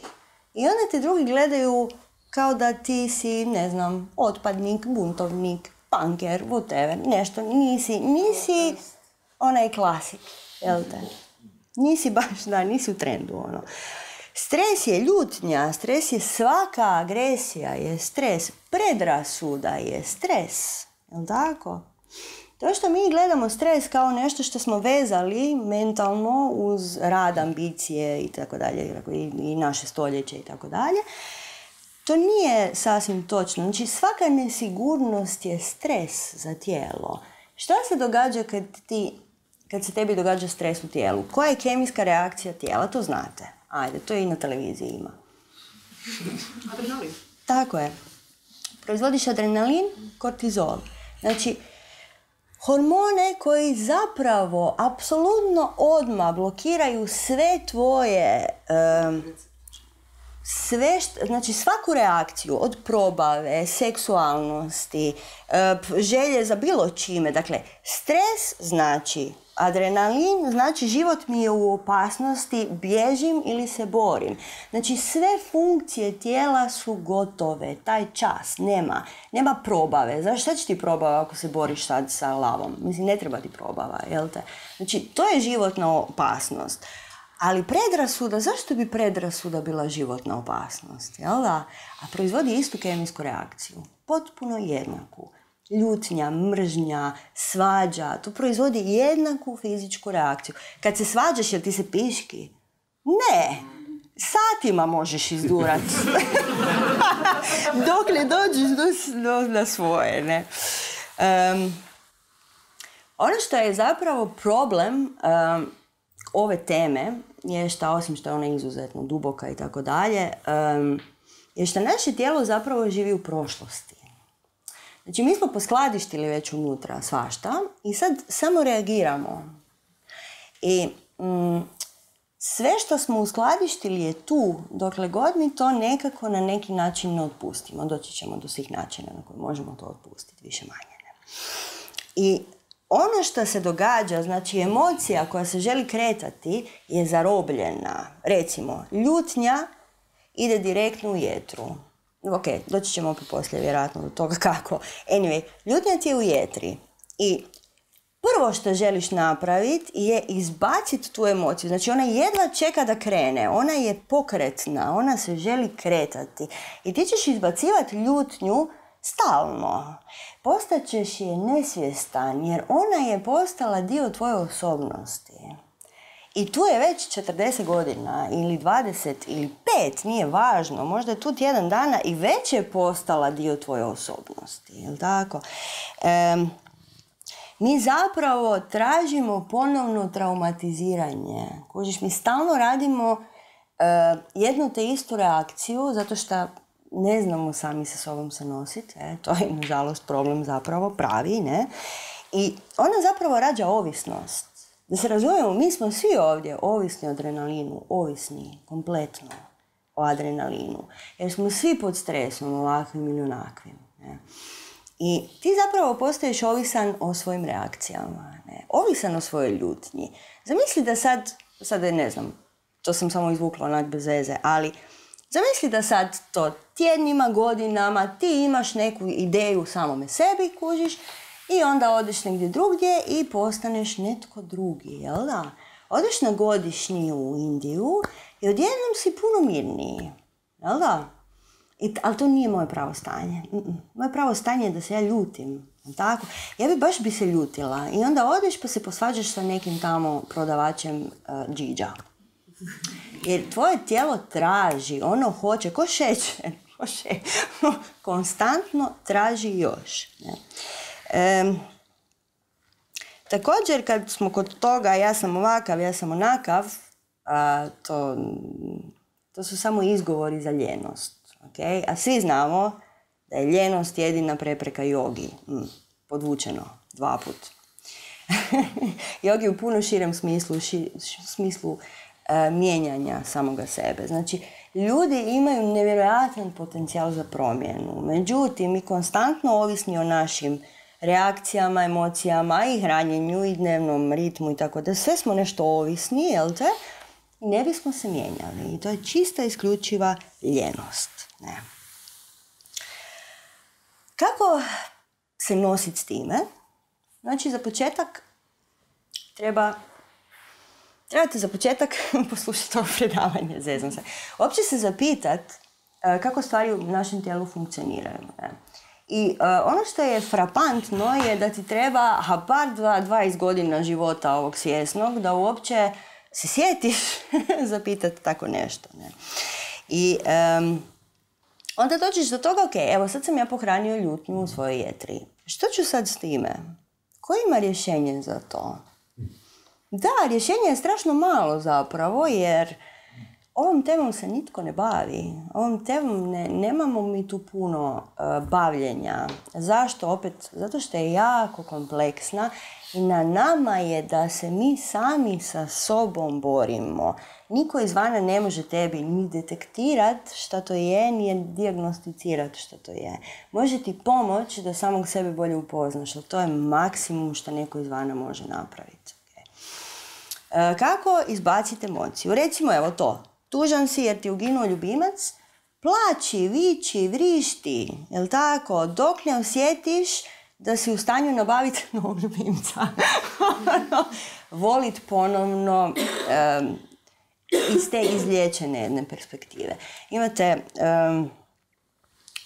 i onda te drugi gledaju kao da ti si, ne znam, otpadnik, buntovnik, punker, whatever, nešto. Nisi onaj klasik, jel te? Nisi baš, nisi u trendu, ono. Stres je ljutnja, stres je svaka agresija, je stres, predrasuda je stres, jel tako? To što mi gledamo stres kao nešto što smo vezali mentalno uz rad, ambicije i tako dalje, i naše stoljeće i tako dalje, to nije sasvim točno. Znači, svaka nesigurnost je stres za tijelo. Šta se događa kad se tebi događa stres u tijelu? Koja je kemijska reakcija tijela? To znate. Ajde, to i na televiziji ima. Adrenalin. Tako je. Proizvodiš adrenalin, kortizol. Znači, hormone koji zapravo apsolutno odmah blokiraju sve tvoje, znači svaku reakciju od probave, seksualnosti, želje za bilo čime. Dakle, stres znači adrenalin, znači život mi je u opasnosti, bježim ili se borim. Znači sve funkcije tijela su gotove, taj čas, nema probave. Znaš šta će ti probava ako se boriš sad sa lavom? Mislim, ne treba ti probava, jel te? Znači, to je životna opasnost. Ali predrasuda, zašto bi predrasuda bila životna opasnost, jel da? A proizvodi istu kemijsku reakciju, potpuno jednaku. Ljutnja, mržnja, svađa, to proizvodi jednaku fizičku reakciju. Kad se svađaš, jel ti se piški? Ne, satima možeš izdurat. Dok ne dođeš na svoje, ne. Ono što je zapravo problem ove teme je što, osim što je ona izuzetno duboka i tako dalje, je što naše tijelo zapravo živi u prošlosti. Znači, mi smo poskladištili već unutra svašta i sad samo reagiramo. I sve što smo uskladištili je tu, dokle god mi to nekako na neki način ne otpustimo. Doći ćemo do svih načina na koje možemo to otpustiti, više manje. Ne? I ono što se događa, znači emocija koja se želi kretati je zarobljena. Recimo, ljutnja ide direktno u jetru. Ok, doći ćemo opet poslije vjerojatno do toga kako. Anyway, ljutnja ti je u jetri. I prvo što želiš napraviti je izbaciti tu emociju. Znači ona jedva čeka da krene. Ona je pokretna. Ona se želi kretati. I ti ćeš izbacivati ljutnju stalno. Postaćeš je nesvjestan jer ona je postala dio tvoje osobnosti. I tu je već 40 godina ili 20 ili 5, nije važno. Možda je tu tjedan dana i već je postala dio tvoje osobnosti. Jel' tako? Mi zapravo tražimo ponovno traumatiziranje. Kužiš, mi stalno radimo jednu te istu reakciju zato što ne znamo sami sa sobom se nositi. To je, nažalost, problem zapravo pravi, ne? I ona zapravo rađa ovisnost. Da se razumijemo, mi smo svi ovdje ovisni o adrenalinu, ovisni kompletno o adrenalinu. Jer smo svi pod stresom, ovakvim ili onakvim. Ne? I ti zapravo postaješ ovisan o svojim reakcijama, ne? Ovisan o svojoj ljutnji. Zamisli da sad ne znam, to sam samo izvukla onak bez veze, ali zamisli da sad to tjednima, godinama, ti imaš neku ideju samome sebi, kužiš, i onda odeš negdje drugdje i postaneš netko drugi, jel da? Odeš na godišnji u Indiju i odjednom si puno mirniji, jel da? Ali to nije moje pravo stanje. Moje pravo stanje je da se ja ljutim, tako? Ja bi se ljutila i onda odeš pa se posvađaš sa nekim tamo prodavačem džiđa. Jer tvoje tijelo traži, ono hoće, ko šećer, konstantno traži još, ne? Također, kad smo kod toga ja sam ovakav, ja sam onakav, to su samo izgovori za ljenost. Okay? A svi znamo da je ljenost jedina prepreka jogi. Podvučeno 2 puta. Jogi u puno širem smislu mijenjanja samoga sebe. Znači, ljudi imaju nevjerojatan potencijal za promjenu. Međutim, mi konstantno ovisni o našim reakcijama, emocijama i hranjenju i dnevnom ritmu i tako da sve smo nešto ovisni, jel te? I ne bismo se mijenjali. I to je čista isključiva ljenost. Ne. Kako se nositi s time? Znači, za početak trebate za početak poslušati ovo predavanje, zezam se. Uopće se zapitati kako stvari u našem tijelu funkcioniraju. Ne? I ono što je frapantno je da ti treba bar 20 godina života ovog svjesnog da uopće se sjetiš zapitati tako nešto. Ne? I onda dođeš do toga, ok, evo sad sam ja pohranio ljutnju u svojoj jetri. Što ću sad s time? Ko ima rješenje za to? Da, rješenje je strašno malo zapravo, jer ovom temom se nitko ne bavi. Ovom temom nemamo mi tu puno bavljenja. Zašto? Opet, zato što je jako kompleksna i na nama je da se mi sami sa sobom borimo. Niko izvana ne može tebi ni detektirati šta to je, ni dijagnosticirati šta to je. Može ti pomoći da samog sebe bolje upoznaš, ali to je maksimum što neko izvana može napraviti. Kako izbaciti emociju? Recimo, evo to. Tužan si jer ti uginuo ljubimac, plači, viči, vrišti, jel tako? Dok ne osjetiš da si u stanju nabaviti novog ljubimca. Volit ponovno, iz te izliječene jedne perspektive.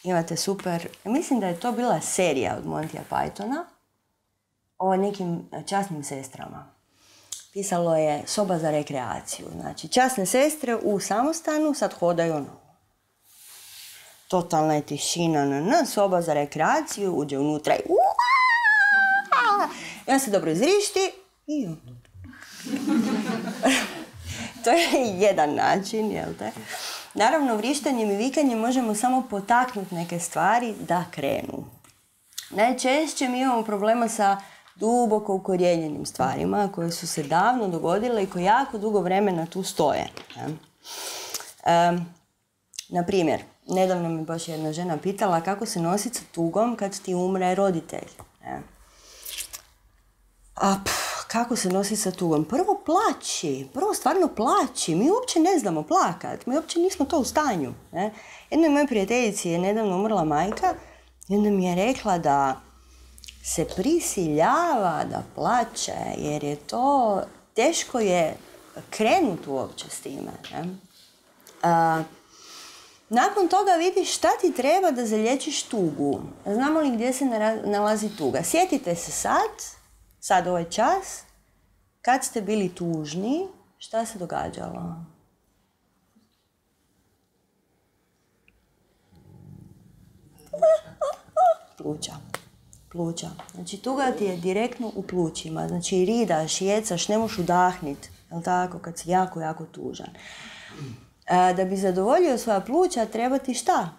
Imate super, mislim da je to bila serija od Montya Pythona o nekim časnim sestrama. Pisalo je Soba za rekreaciju. Znači, časne sestre u samostanu sad hodaju totalna je tišina, soba za rekreaciju, uđe unutra i on se dobro izrišti i to je jedan način, jel te? Naravno, vrištanjem i vikanjem možemo samo potaknuti neke stvari da krenu. Najčešće mi imamo problema sa duboko ukorijenjenim stvarima koje su se davno dogodile i koje jako dugo vremena tu stoje. Na primjer, nedavno mi baš jedna žena pitala kako se nositi sa tugom kad ti umre roditelj. Kako se nosi sa tugom? Prvo plaći, prvo stvarno plaći. Mi uopće ne znamo plakat, mi uopće nismo to u stanju. Jednoj moje prijateljici je nedavno umrla majka i onda mi je rekla da se prisiljava da plaće, jer je to, teško je krenuti uopće s time. Nakon toga vidiš šta ti treba da zalječiš tugu. Znamo li gdje se nalazi tuga? Sjetite se sad ovaj čas, kad ste bili tužni, šta se događalo? Pluća. Znači, tuga ti je direktno u plućima. Znači, ridaš, jecaš, ne možeš udahniti. Jel' tako? Kad si jako, jako tužan. Da bi zadovoljio svoja pluća, treba ti šta?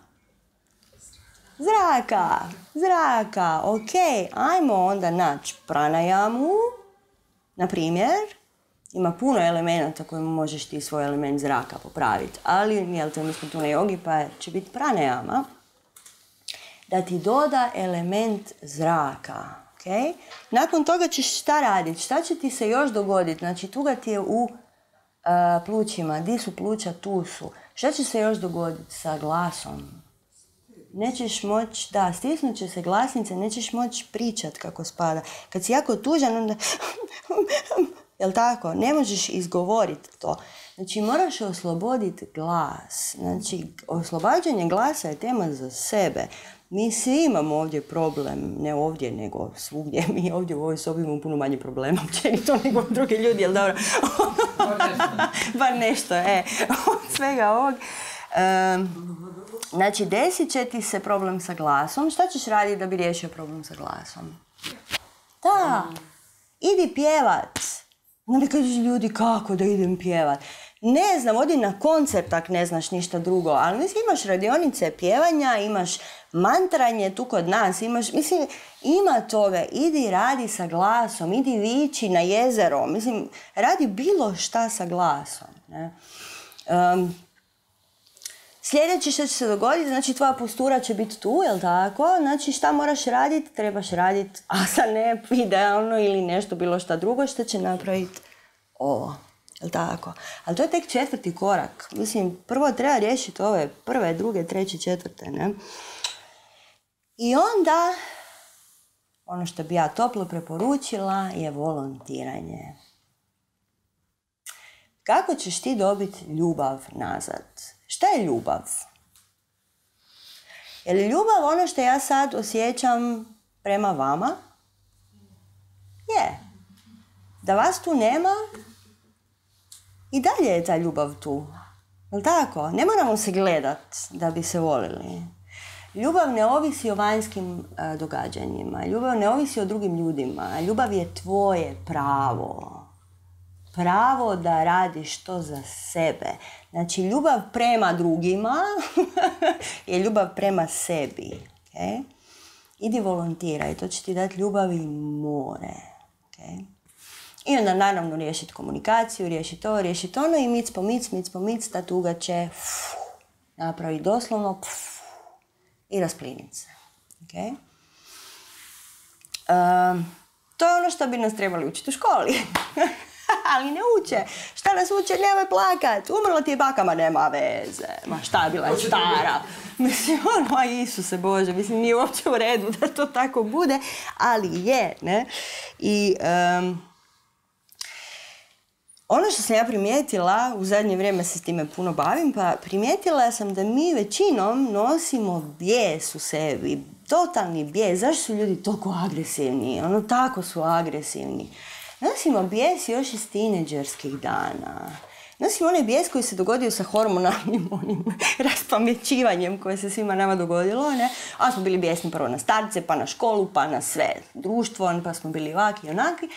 Zraka. Ok, ajmo onda naći pranajamu. Na primjer, ima puno elemenata kojima možeš ti svoj element zraka popraviti. Ali, jel te, mi smo tu na jogi, pa će biti pranajama. Da ti doda element zraka. Okay? Nakon toga ćeš šta raditi? Šta će ti se još dogoditi? Znači, tuga ti je u plućima. Di su pluća? Tu su. Šta će se još dogoditi sa glasom? Nećeš moći, stisnut će se glasnice, nećeš moći pričat kako spada. Kad si jako tužan, onda jel' tako? Ne možeš izgovoriti to. Znači, moraš osloboditi glas. Znači, oslobađanje glasa je tema za sebe. Mi svi imamo ovdje problem, ne ovdje, nego svugdje. Mi ovdje u ovoj sobi imamo puno manje problema općenito nego drugi ljudi, jel' dobro? Bar nešto, od svega ovog. Znači, desit će ti se problem sa glasom. Šta ćeš raditi da bi riješio problem sa glasom? Da, idi pjevat. Onda kažeš ljudi, kako da idem pjevat? Ne znam, odi na koncert ako ne znaš ništa drugo, ali mislim, imaš radionice pjevanja, imaš mantranje tu kod nas, ima toga, idi radi sa glasom, idi vići na jezero, radi bilo šta sa glasom. Ne? Sljedeće što će se dogoditi, znači tvoja postura će biti tu, jel' tako? Znači šta moraš raditi? Trebaš raditi asane, idealno ili nešto, bilo šta drugo što će napraviti ovo. Jel' tako? Ali to je tek 4. korak. Prvo treba riješiti ove 1., 2., 3., 4. Ne? I onda, ono što bi ja toplo preporučila je volontiranje. Kako ćeš ti dobiti ljubav nazad? Šta je ljubav? Je li ljubav ono što ja sad osjećam prema vama? Je. Da vas tu nema, i dalje je ta ljubav tu. Jel' tako? Ne moramo se gledat da bi se volili. Ljubav ne ovisi o vanjskim događanjima. Ljubav ne ovisi o drugim ljudima. Ljubav je tvoje pravo. Pravo da radiš to za sebe. Znači, ljubav prema drugima je ljubav prema sebi. Okay? Idi volontiraj, to će ti dati ljubav i more. Okay? I onda naravno riješiti komunikaciju, riješiti ovo, riješiti ono i mic po mic, ta tuga će napraviti doslovno i raspliniti se. Okay? To je ono što bi nas trebali učiti u školi. Ali ne uče. Šta nas uče? Nemoj plakat. Umrla ti je baka, ma nema veze. Ma šta, bila je stara. Isuse Bože, nije uopće u redu da to tako bude, ali je, ne? I Ono što sam ja primijetila, u zadnje vrijeme se s time puno bavim, pa primijetila sam da mi većinom nosimo bijes u sebi, totalni bijes. Zašto su ljudi toliko agresivni? Tako su agresivni. Nosimo bijes još iz tineđerskih dana. Nosimo onaj bijes koji se dogodio sa hormonalnim raspamećivanjem koje se svima nama dogodilo, ne? A smo bili bijesni prvo na starce, pa na školu, pa na sve društvo, pa smo bili ovaki i onaki.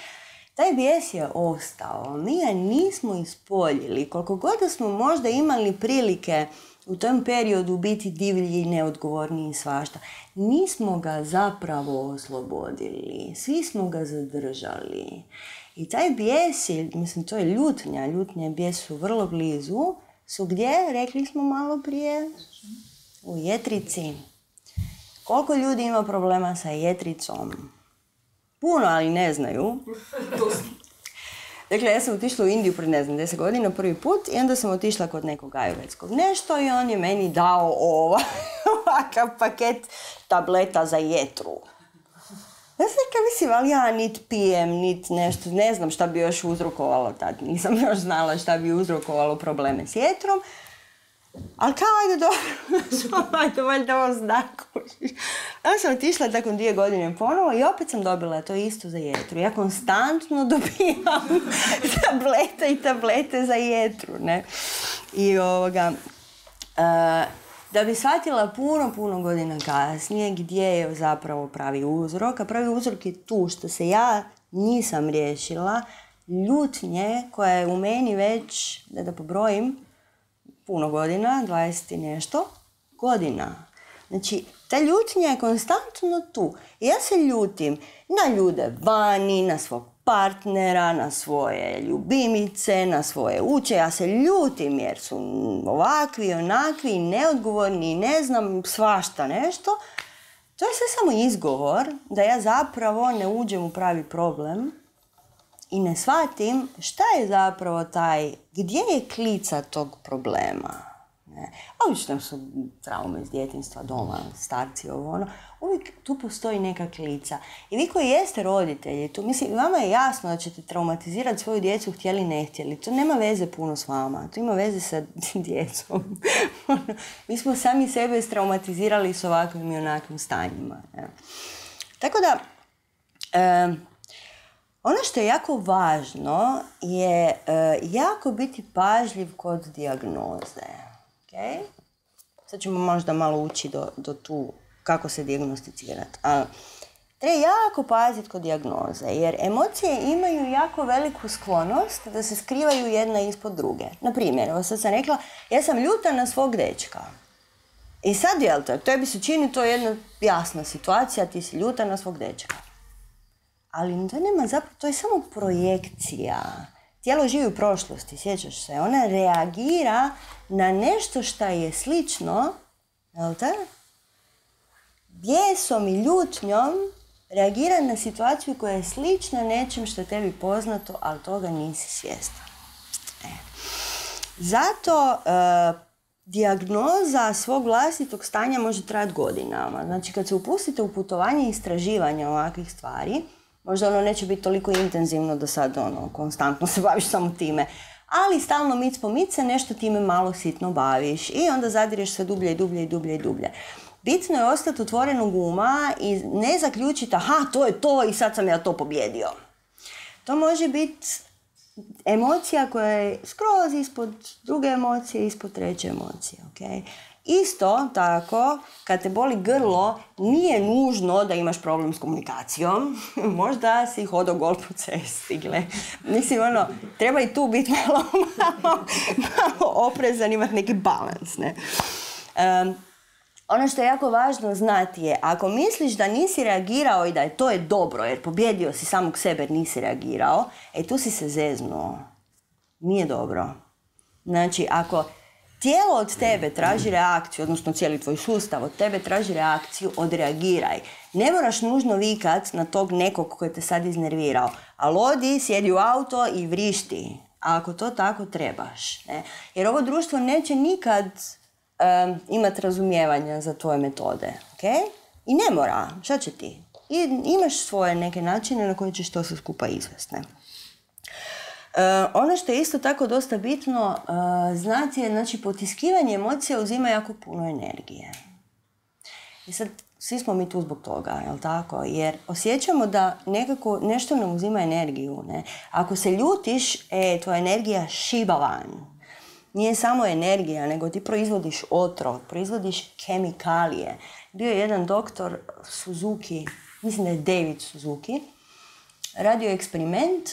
Taj bijes je ostao. Mi ga nismo ispoljili. Koliko god smo možda imali prilike u tom periodu biti divlji i neodgovorni i svašta, nismo ga zapravo oslobodili. Svi smo ga zadržali. I taj bijes je, to je ljutnja. Ljutnja i bijes su vrlo blizu. Su gdje? Rekli smo malo prije. U jetrici. Koliko ljudi ima problema sa jetricom? Puno, ali ne znaju. Dakle, ja sam otišla u Indiju pred, 10 godina prvi put i onda sam otišla kod nekog ajurvedskog nešto i on je meni dao ovakav paket tableta za jetru. Ja sam rekla, mislim, ali ja nit pijem, nit nešto, ne znam šta bi još uzrokovalo tad. Nisam još znala šta bi uzrokovalo probleme s jetrom. Ali kao, ajde dobro, ajde, valjda ovo znakušiš. Ja sam otišla nakon 2 godine ponovo i opet sam dobila to isto za jetru. Ja konstantno dobivam tablete i tablete za jetru, ne. I da bi shvatila puno godina kasnije gdje je zapravo pravi uzrok. A pravi uzrok je tu što se ja nisam riješila ljutnje koja je u meni već, da pobrojim, puno godina, 20 i nešto godina. Znači, ta ljutnja je konstantno tu. I ja se ljutim na ljude vani, na svog partnera, na svoje ljubimice, na svoje uče. Ja se ljutim jer su ovakvi, onakvi, neodgovorni, ne znam, svašta nešto. To je sve samo izgovor da ja zapravo ne uđem u pravi problem i ne shvatim šta je zapravo gdje je klica tog problema. Obično su traume iz djetinjstva, doma, starci, uvijek tu postoji neka klica. I vi koji jeste roditelji, vama je jasno da ćete traumatizirati svoju djecu, htjeli ne htjeli. To nema veze puno s vama, to ima veze sa djecom. Mi smo sami sebe straumatizirali s ovakvim i onakvim stanjima. Tako da, ono što je jako važno je jako biti pažljiv kod dijagnoze. Okay? Sad ćemo možda malo ući do tu kako se dijagnosticirati. Treba jako paziti kod dijagnoze, jer emocije imaju jako veliku sklonost da se skrivaju jedna ispod druge. Naprimjer, evo sad sam rekla, ja sam ljuta na svog dečka. I sad, jel te, tebi se čini to jedna jasna situacija, ti si ljuta na svog dečka. Ali to nema zapravo, to je samo projekcija. Tijelo živi u prošlosti, sjećaš se. Ona reagira na nešto što je slično, jel te? Bijesom i ljutnjom reagira na situaciju koja je slična nečem što je tebi poznato, ali toga nisi svjestan. Zato dijagnoza svog vlastitog stanja može trajati godinama. Znači, kad se upustite u putovanje i istraživanja ovakvih stvari, možda neće biti toliko intenzivno da sad konstantno se baviš samo time. Ali stalno mic po mic se nešto time malo sitno baviš i onda zadireš sve dublje i dublje i dublje i dublje. Bitno je ostati otvorenog uma i ne zaključiti, aha, to je to i sad sam ja to pobjedio. To može biti emocija koja je skroz ispod druge emocije, ispod treće emocije. Okay? Isto tako, kad te boli grlo, nije nužno da imaš problem s komunikacijom. Možda si hodao gol po cesti. Mislim, treba i tu biti malo oprezan, imati neki balans. Ne? Ono što je jako važno znati je, ako misliš da nisi reagirao i da je to dobro, jer pobjedio si samog sebe jer nisi reagirao, tu si se zeznuo. Nije dobro. Znači, ako tijelo od tebe traži reakciju, odnosno cijeli tvoj sustav od tebe traži reakciju, odreagiraj. Ne moraš nužno vikat na tog nekog koji te sad iznervirao. Ali odi, sjedi u auto i vrišti. A ako to tako trebaš. Ne? Jer ovo društvo neće nikad imati razumijevanja za tvoje metode. Okay? I ne mora. Šta će ti? I imaš svoje neke načine na koje ćeš to sve skupa izvesti. Ono što je isto tako dosta bitno znati je, znači, potiskivanje emocija uzima jako puno energije. I sad, svi smo mi tu zbog toga, jel tako? Jer osjećamo da nekako nešto nam uzima energiju, ne? Ako se ljutiš, tvoja energija šiba van. Nije samo energija, nego ti proizvodiš otrov, proizvodiš kemikalije. Bio je jedan doktor Suzuki, mislim da je David Suzuki, radio eksperiment,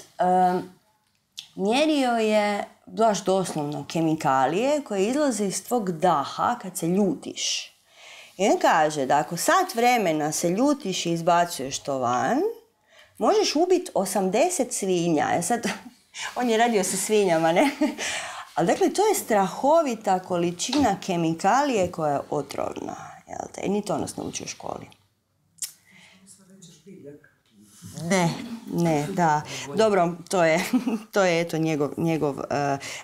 mjerio je baš doslovno kemikalije koje izlaze iz tvog daha kad se ljutiš. I on kaže da ako sat vremena se ljutiš i izbacuješ to van, možeš ubiti 80 svinja. Sad, on je radio sa svinjama, ne? Ali dakle, to je strahovita količina kemikalije koja je otrovna. Jel te? I ni to nas ne uči u školi. Ne, da. Dobro, to je eto njegov...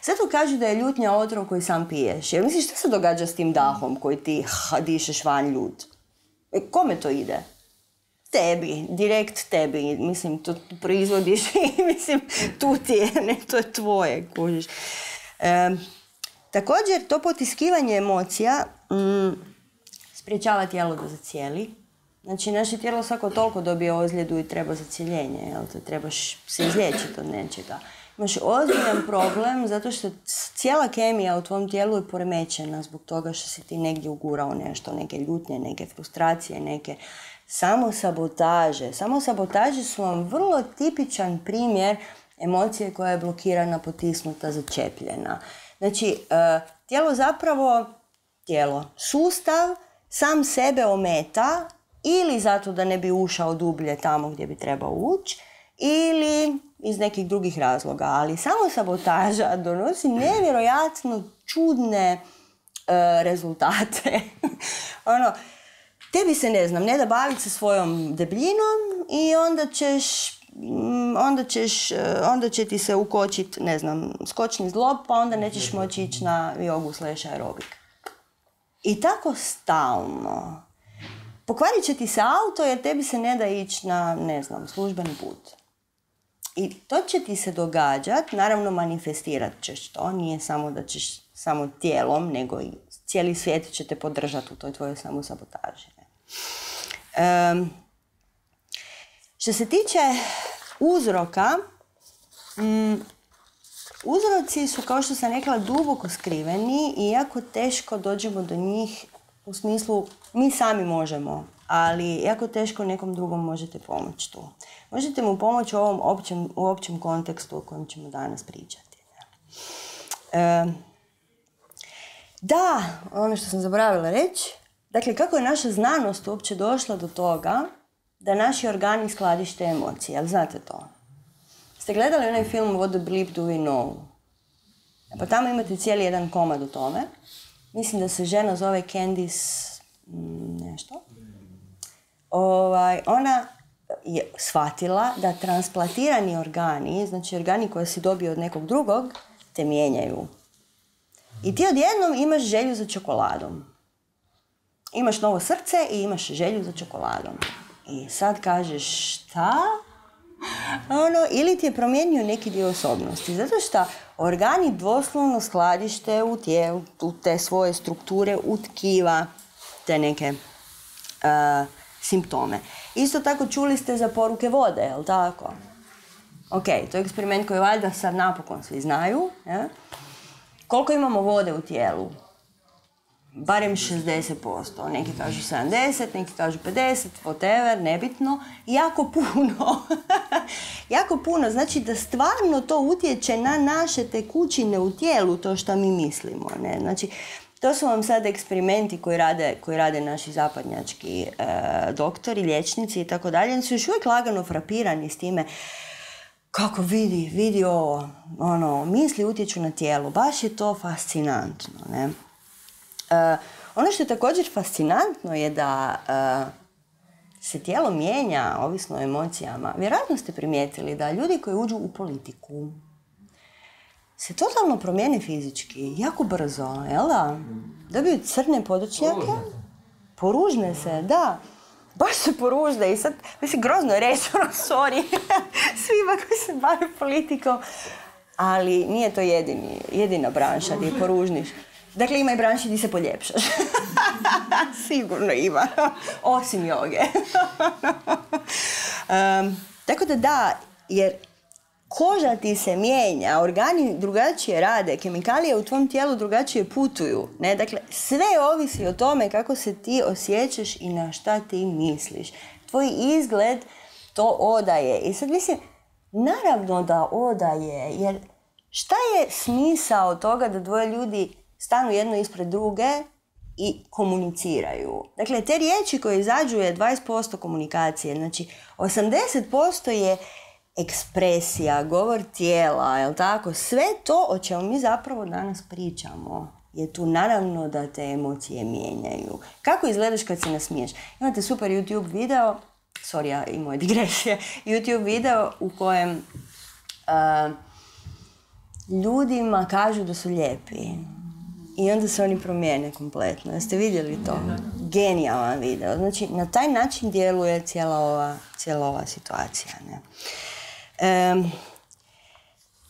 Zato kaže da je ljutnja otrov koji sam piješ. Jer misliš, što se događa s tim dahom koji ti dišeš van ljut? Kome to ide? Tebi, direkt tebi. Mislim, to proizvodiš i mislim, tu ti je, ne, to je tvoje, kužiš. Također, to potiskivanje emocija sprječava tijelo da zacijeli. Znači, naše tijelo svako toliko dobije ozljedu i treba zacjeljenje, jel te? Trebaš se izliječiti od nečega. Imaš ozbiljan problem zato što cijela kemija u tvom tijelu je poremećena zbog toga što si ti negdje ugurao nešto, neke ljutnje, neke frustracije, neke samosabotaže. Samosabotaže su vam vrlo tipičan primjer emocije koja je blokirana, potisnuta, začepljena. Znači, sustav sam sebe ometa ili zato da ne bi ušao dublje tamo gdje bi trebao ući, ili iz nekih drugih razloga. Ali samo sabotaža donosi nevjerojatno čudne rezultate. Tebi se, ne da baviti se svojom debljinom i onda će ti se ukočiti, skočni zglob, pa onda nećeš moći ići na jogu / aerobik. I tako stalno. Pokvarit će ti se auto jer tebi se ne da ići na, službeni put. I to će ti se događati, naravno manifestirat ćeš to, nije samo da ćeš samo tijelom, nego i cijeli svijet će te podržati u toj tvojoj samosabotaži. Što se tiče uzroka, uzroci su, kao što sam rekla, duboko skriveni i jako teško dođemo do njih u smislu mi sami možemo, ali jako teško nekom drugom možete pomoći tu. Možete mu pomoći u ovom općem kontekstu o kojem ćemo danas pričati. Da, ono što sam zaboravila reći, dakle, kako je naša znanost uopće došla do toga da naši organi skladište emocije, jel znate to? Ste gledali onaj film What the Bleep Do We Know? Pa tamo imate cijeli jedan komad o tome. Mislim da se žena zove Candice nešto. Ona je shvatila da transplantirani organi, znači organi koje si dobio od nekog drugog, te mijenjaju. I ti odjednom imaš želju za čokoladom. Imaš novo srce i imaš želju za čokoladom. I sad kažeš šta? Ili ti je promijenio neki dio osobnosti. Zato što organi doslovno skladište u tijelu, u te svoje strukture, u tkiva, te neke simptome. Isto tako čuli ste za poruke vode, jel tako? Ok, to je eksperiment koji valjda sad napokon svi znaju. Ja? Koliko imamo vode u tijelu? Barem 60%. Neki kažu 70, neki kažu 50, whatever, nebitno. Jako puno. Jako puno. Znači da stvarno to utječe na naše tekućine u tijelu, to što mi mislimo. Ne? Znači, to su vam sad eksperimenti koji rade naši zapadnjački doktori, liječnici i tako dalje. Oni su još uvijek lagano frapirani s time kako vidi ovo, misli utječu na tijelo. Baš je to fascinantno, ne? Ono što je također fascinantno je da se tijelo mijenja ovisno o emocijama. Vjerojatno ste primijetili da ljudi koji uđu u politiku se totalno promijene fizički, jako brzo, jel da? Dobiju crne podočnjake, poružne se, da. Baš se poružne i sad, mislim, grozno je reći, sorry, svima koji se bave politikom. Ali nije to jedina branša gdje poružniš. Dakle, ima i branši gdje se poljepšaš. Sigurno ima. Osim joge. Tako da, jer koža ti se mijenja, organi drugačije rade, kemikalije u tvom tijelu drugačije putuju. Ne? Dakle, sve ovisi o tome kako se ti osjećaš i na šta ti misliš. Tvoj izgled to odaje. I sad mislim, naravno da odaje, jer šta je smisao toga da dvoje ljudi stanu jedno ispred druge i komuniciraju? Dakle, te riječi koje izađu je 20% komunikacije. Znači, 80% je ekspresija, govor tijela, jel tako? Sve to o čemu mi zapravo danas pričamo je tu naravno da te emocije mijenjaju. Kako izgledaš kad se nasmiješ? Imate super YouTube video, i moje digresije, YouTube video u kojem ljudima kažu da su lijepi. I onda se oni promijene kompletno. Jeste vidjeli to? Genijalan video. Znači, na taj način djeluje cijela ova situacija.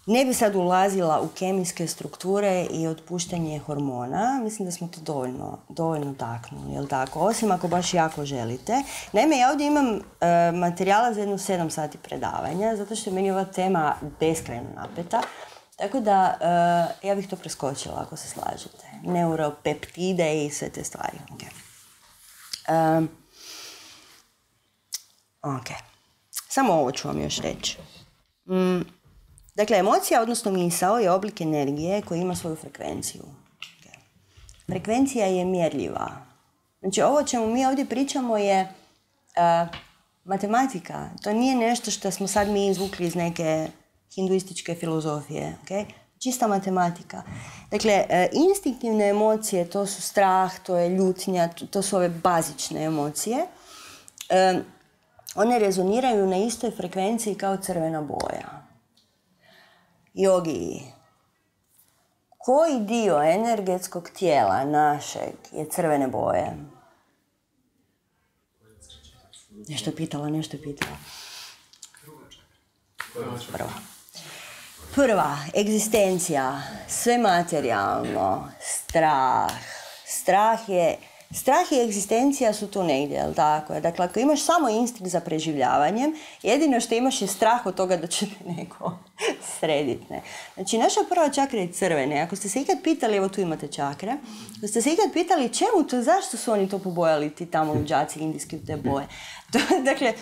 Ne bi sad ulazila u kemijske strukture i otpuštanje hormona. Mislim da smo to dovoljno taknuli, jel tako? Osim ako baš jako želite. Naime, ja ovdje imam materijala za 7 sati predavanja, zato što je meni ova tema beskrajno napeta. Tako da, ja bih to preskočila ako se slažete. Neuropeptide i sve te stvari. Ok. Samo ovo ću vam još reći. Dakle, emocija, odnosno misao, je oblik energije koji ima svoju frekvenciju. Frekvencija je mjerljiva. Znači, ovo o čemu mi ovdje pričamo je matematika. To nije nešto što smo sad mi izvukli iz neke hinduističke filozofije. Okay? Čista matematika. Dakle, instinktivne emocije, to su strah, to je ljutnja, to su ove bazične emocije. One rezoniraju na istoj frekvenciji kao crvena boja. Jogi, koji dio energetskog tijela našeg je crvene boje? Nešto je pitala. Prva, egzistencija, sve materijalno, strah i egzistencija su tu negdje, jel tako? Dakle, ako imaš samo instinkt za preživljavanjem, jedino što imaš je strah od toga da će te neko srediti. Znači, naša prva čakra je crvene. Ako ste se ikad pitali, evo tu imate čakre, ako ste se ikad pitali čemu to, zašto su oni to pobojali, ti tamo luđaci indijski u te boje? Dakle,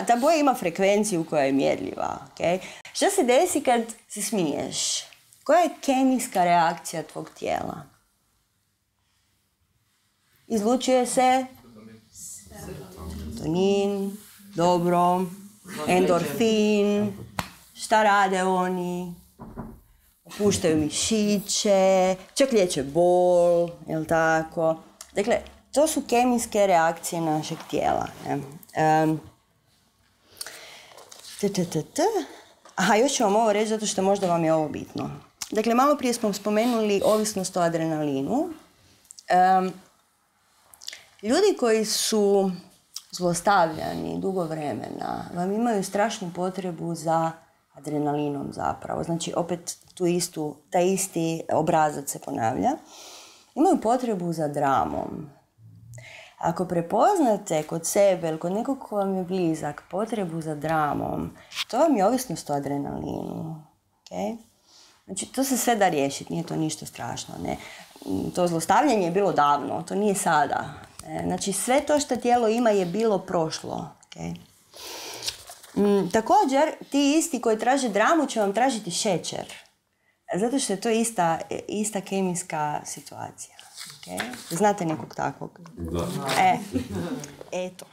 ta boja ima frekvenciju koja je mjerljiva. Okay? Što se desi kad se smiješ? Koja je kemijska reakcija tvog tijela? Izlučuje se serotonin, dobro, endorfin. Šta rade oni? Opuštaju mišiće, čak liječe bol, jel tako? Dakle, to su kemijske reakcije našeg tijela. Aha, još ću vam ovo reći zato što možda vam je ovo bitno. Dakle, malo prije smo spomenuli ovisnost o adrenalinu. Ljudi koji su zlostavljani dugo vremena vam imaju strašnu potrebu za adrenalinom zapravo. Znači, opet taj isti obrazac se ponavlja. Imaju potrebu za dramom. Ako prepoznate kod sebe ili kod nekog ko vam je blizak potrebu za dramom, to vam je ovisnost o adrenalinu. Okay? Znači, to se sve da riješiti, nije to ništa strašno. Ne? To zlostavljanje je bilo davno, to nije sada. Znači, sve to što tijelo ima je bilo prošlo. Okay? Također, ti isti koji traže dramu će vam tražiti šećer. Zato što je to ista kemijska situacija. Okay? Znate nekog takvog? Da. Eto.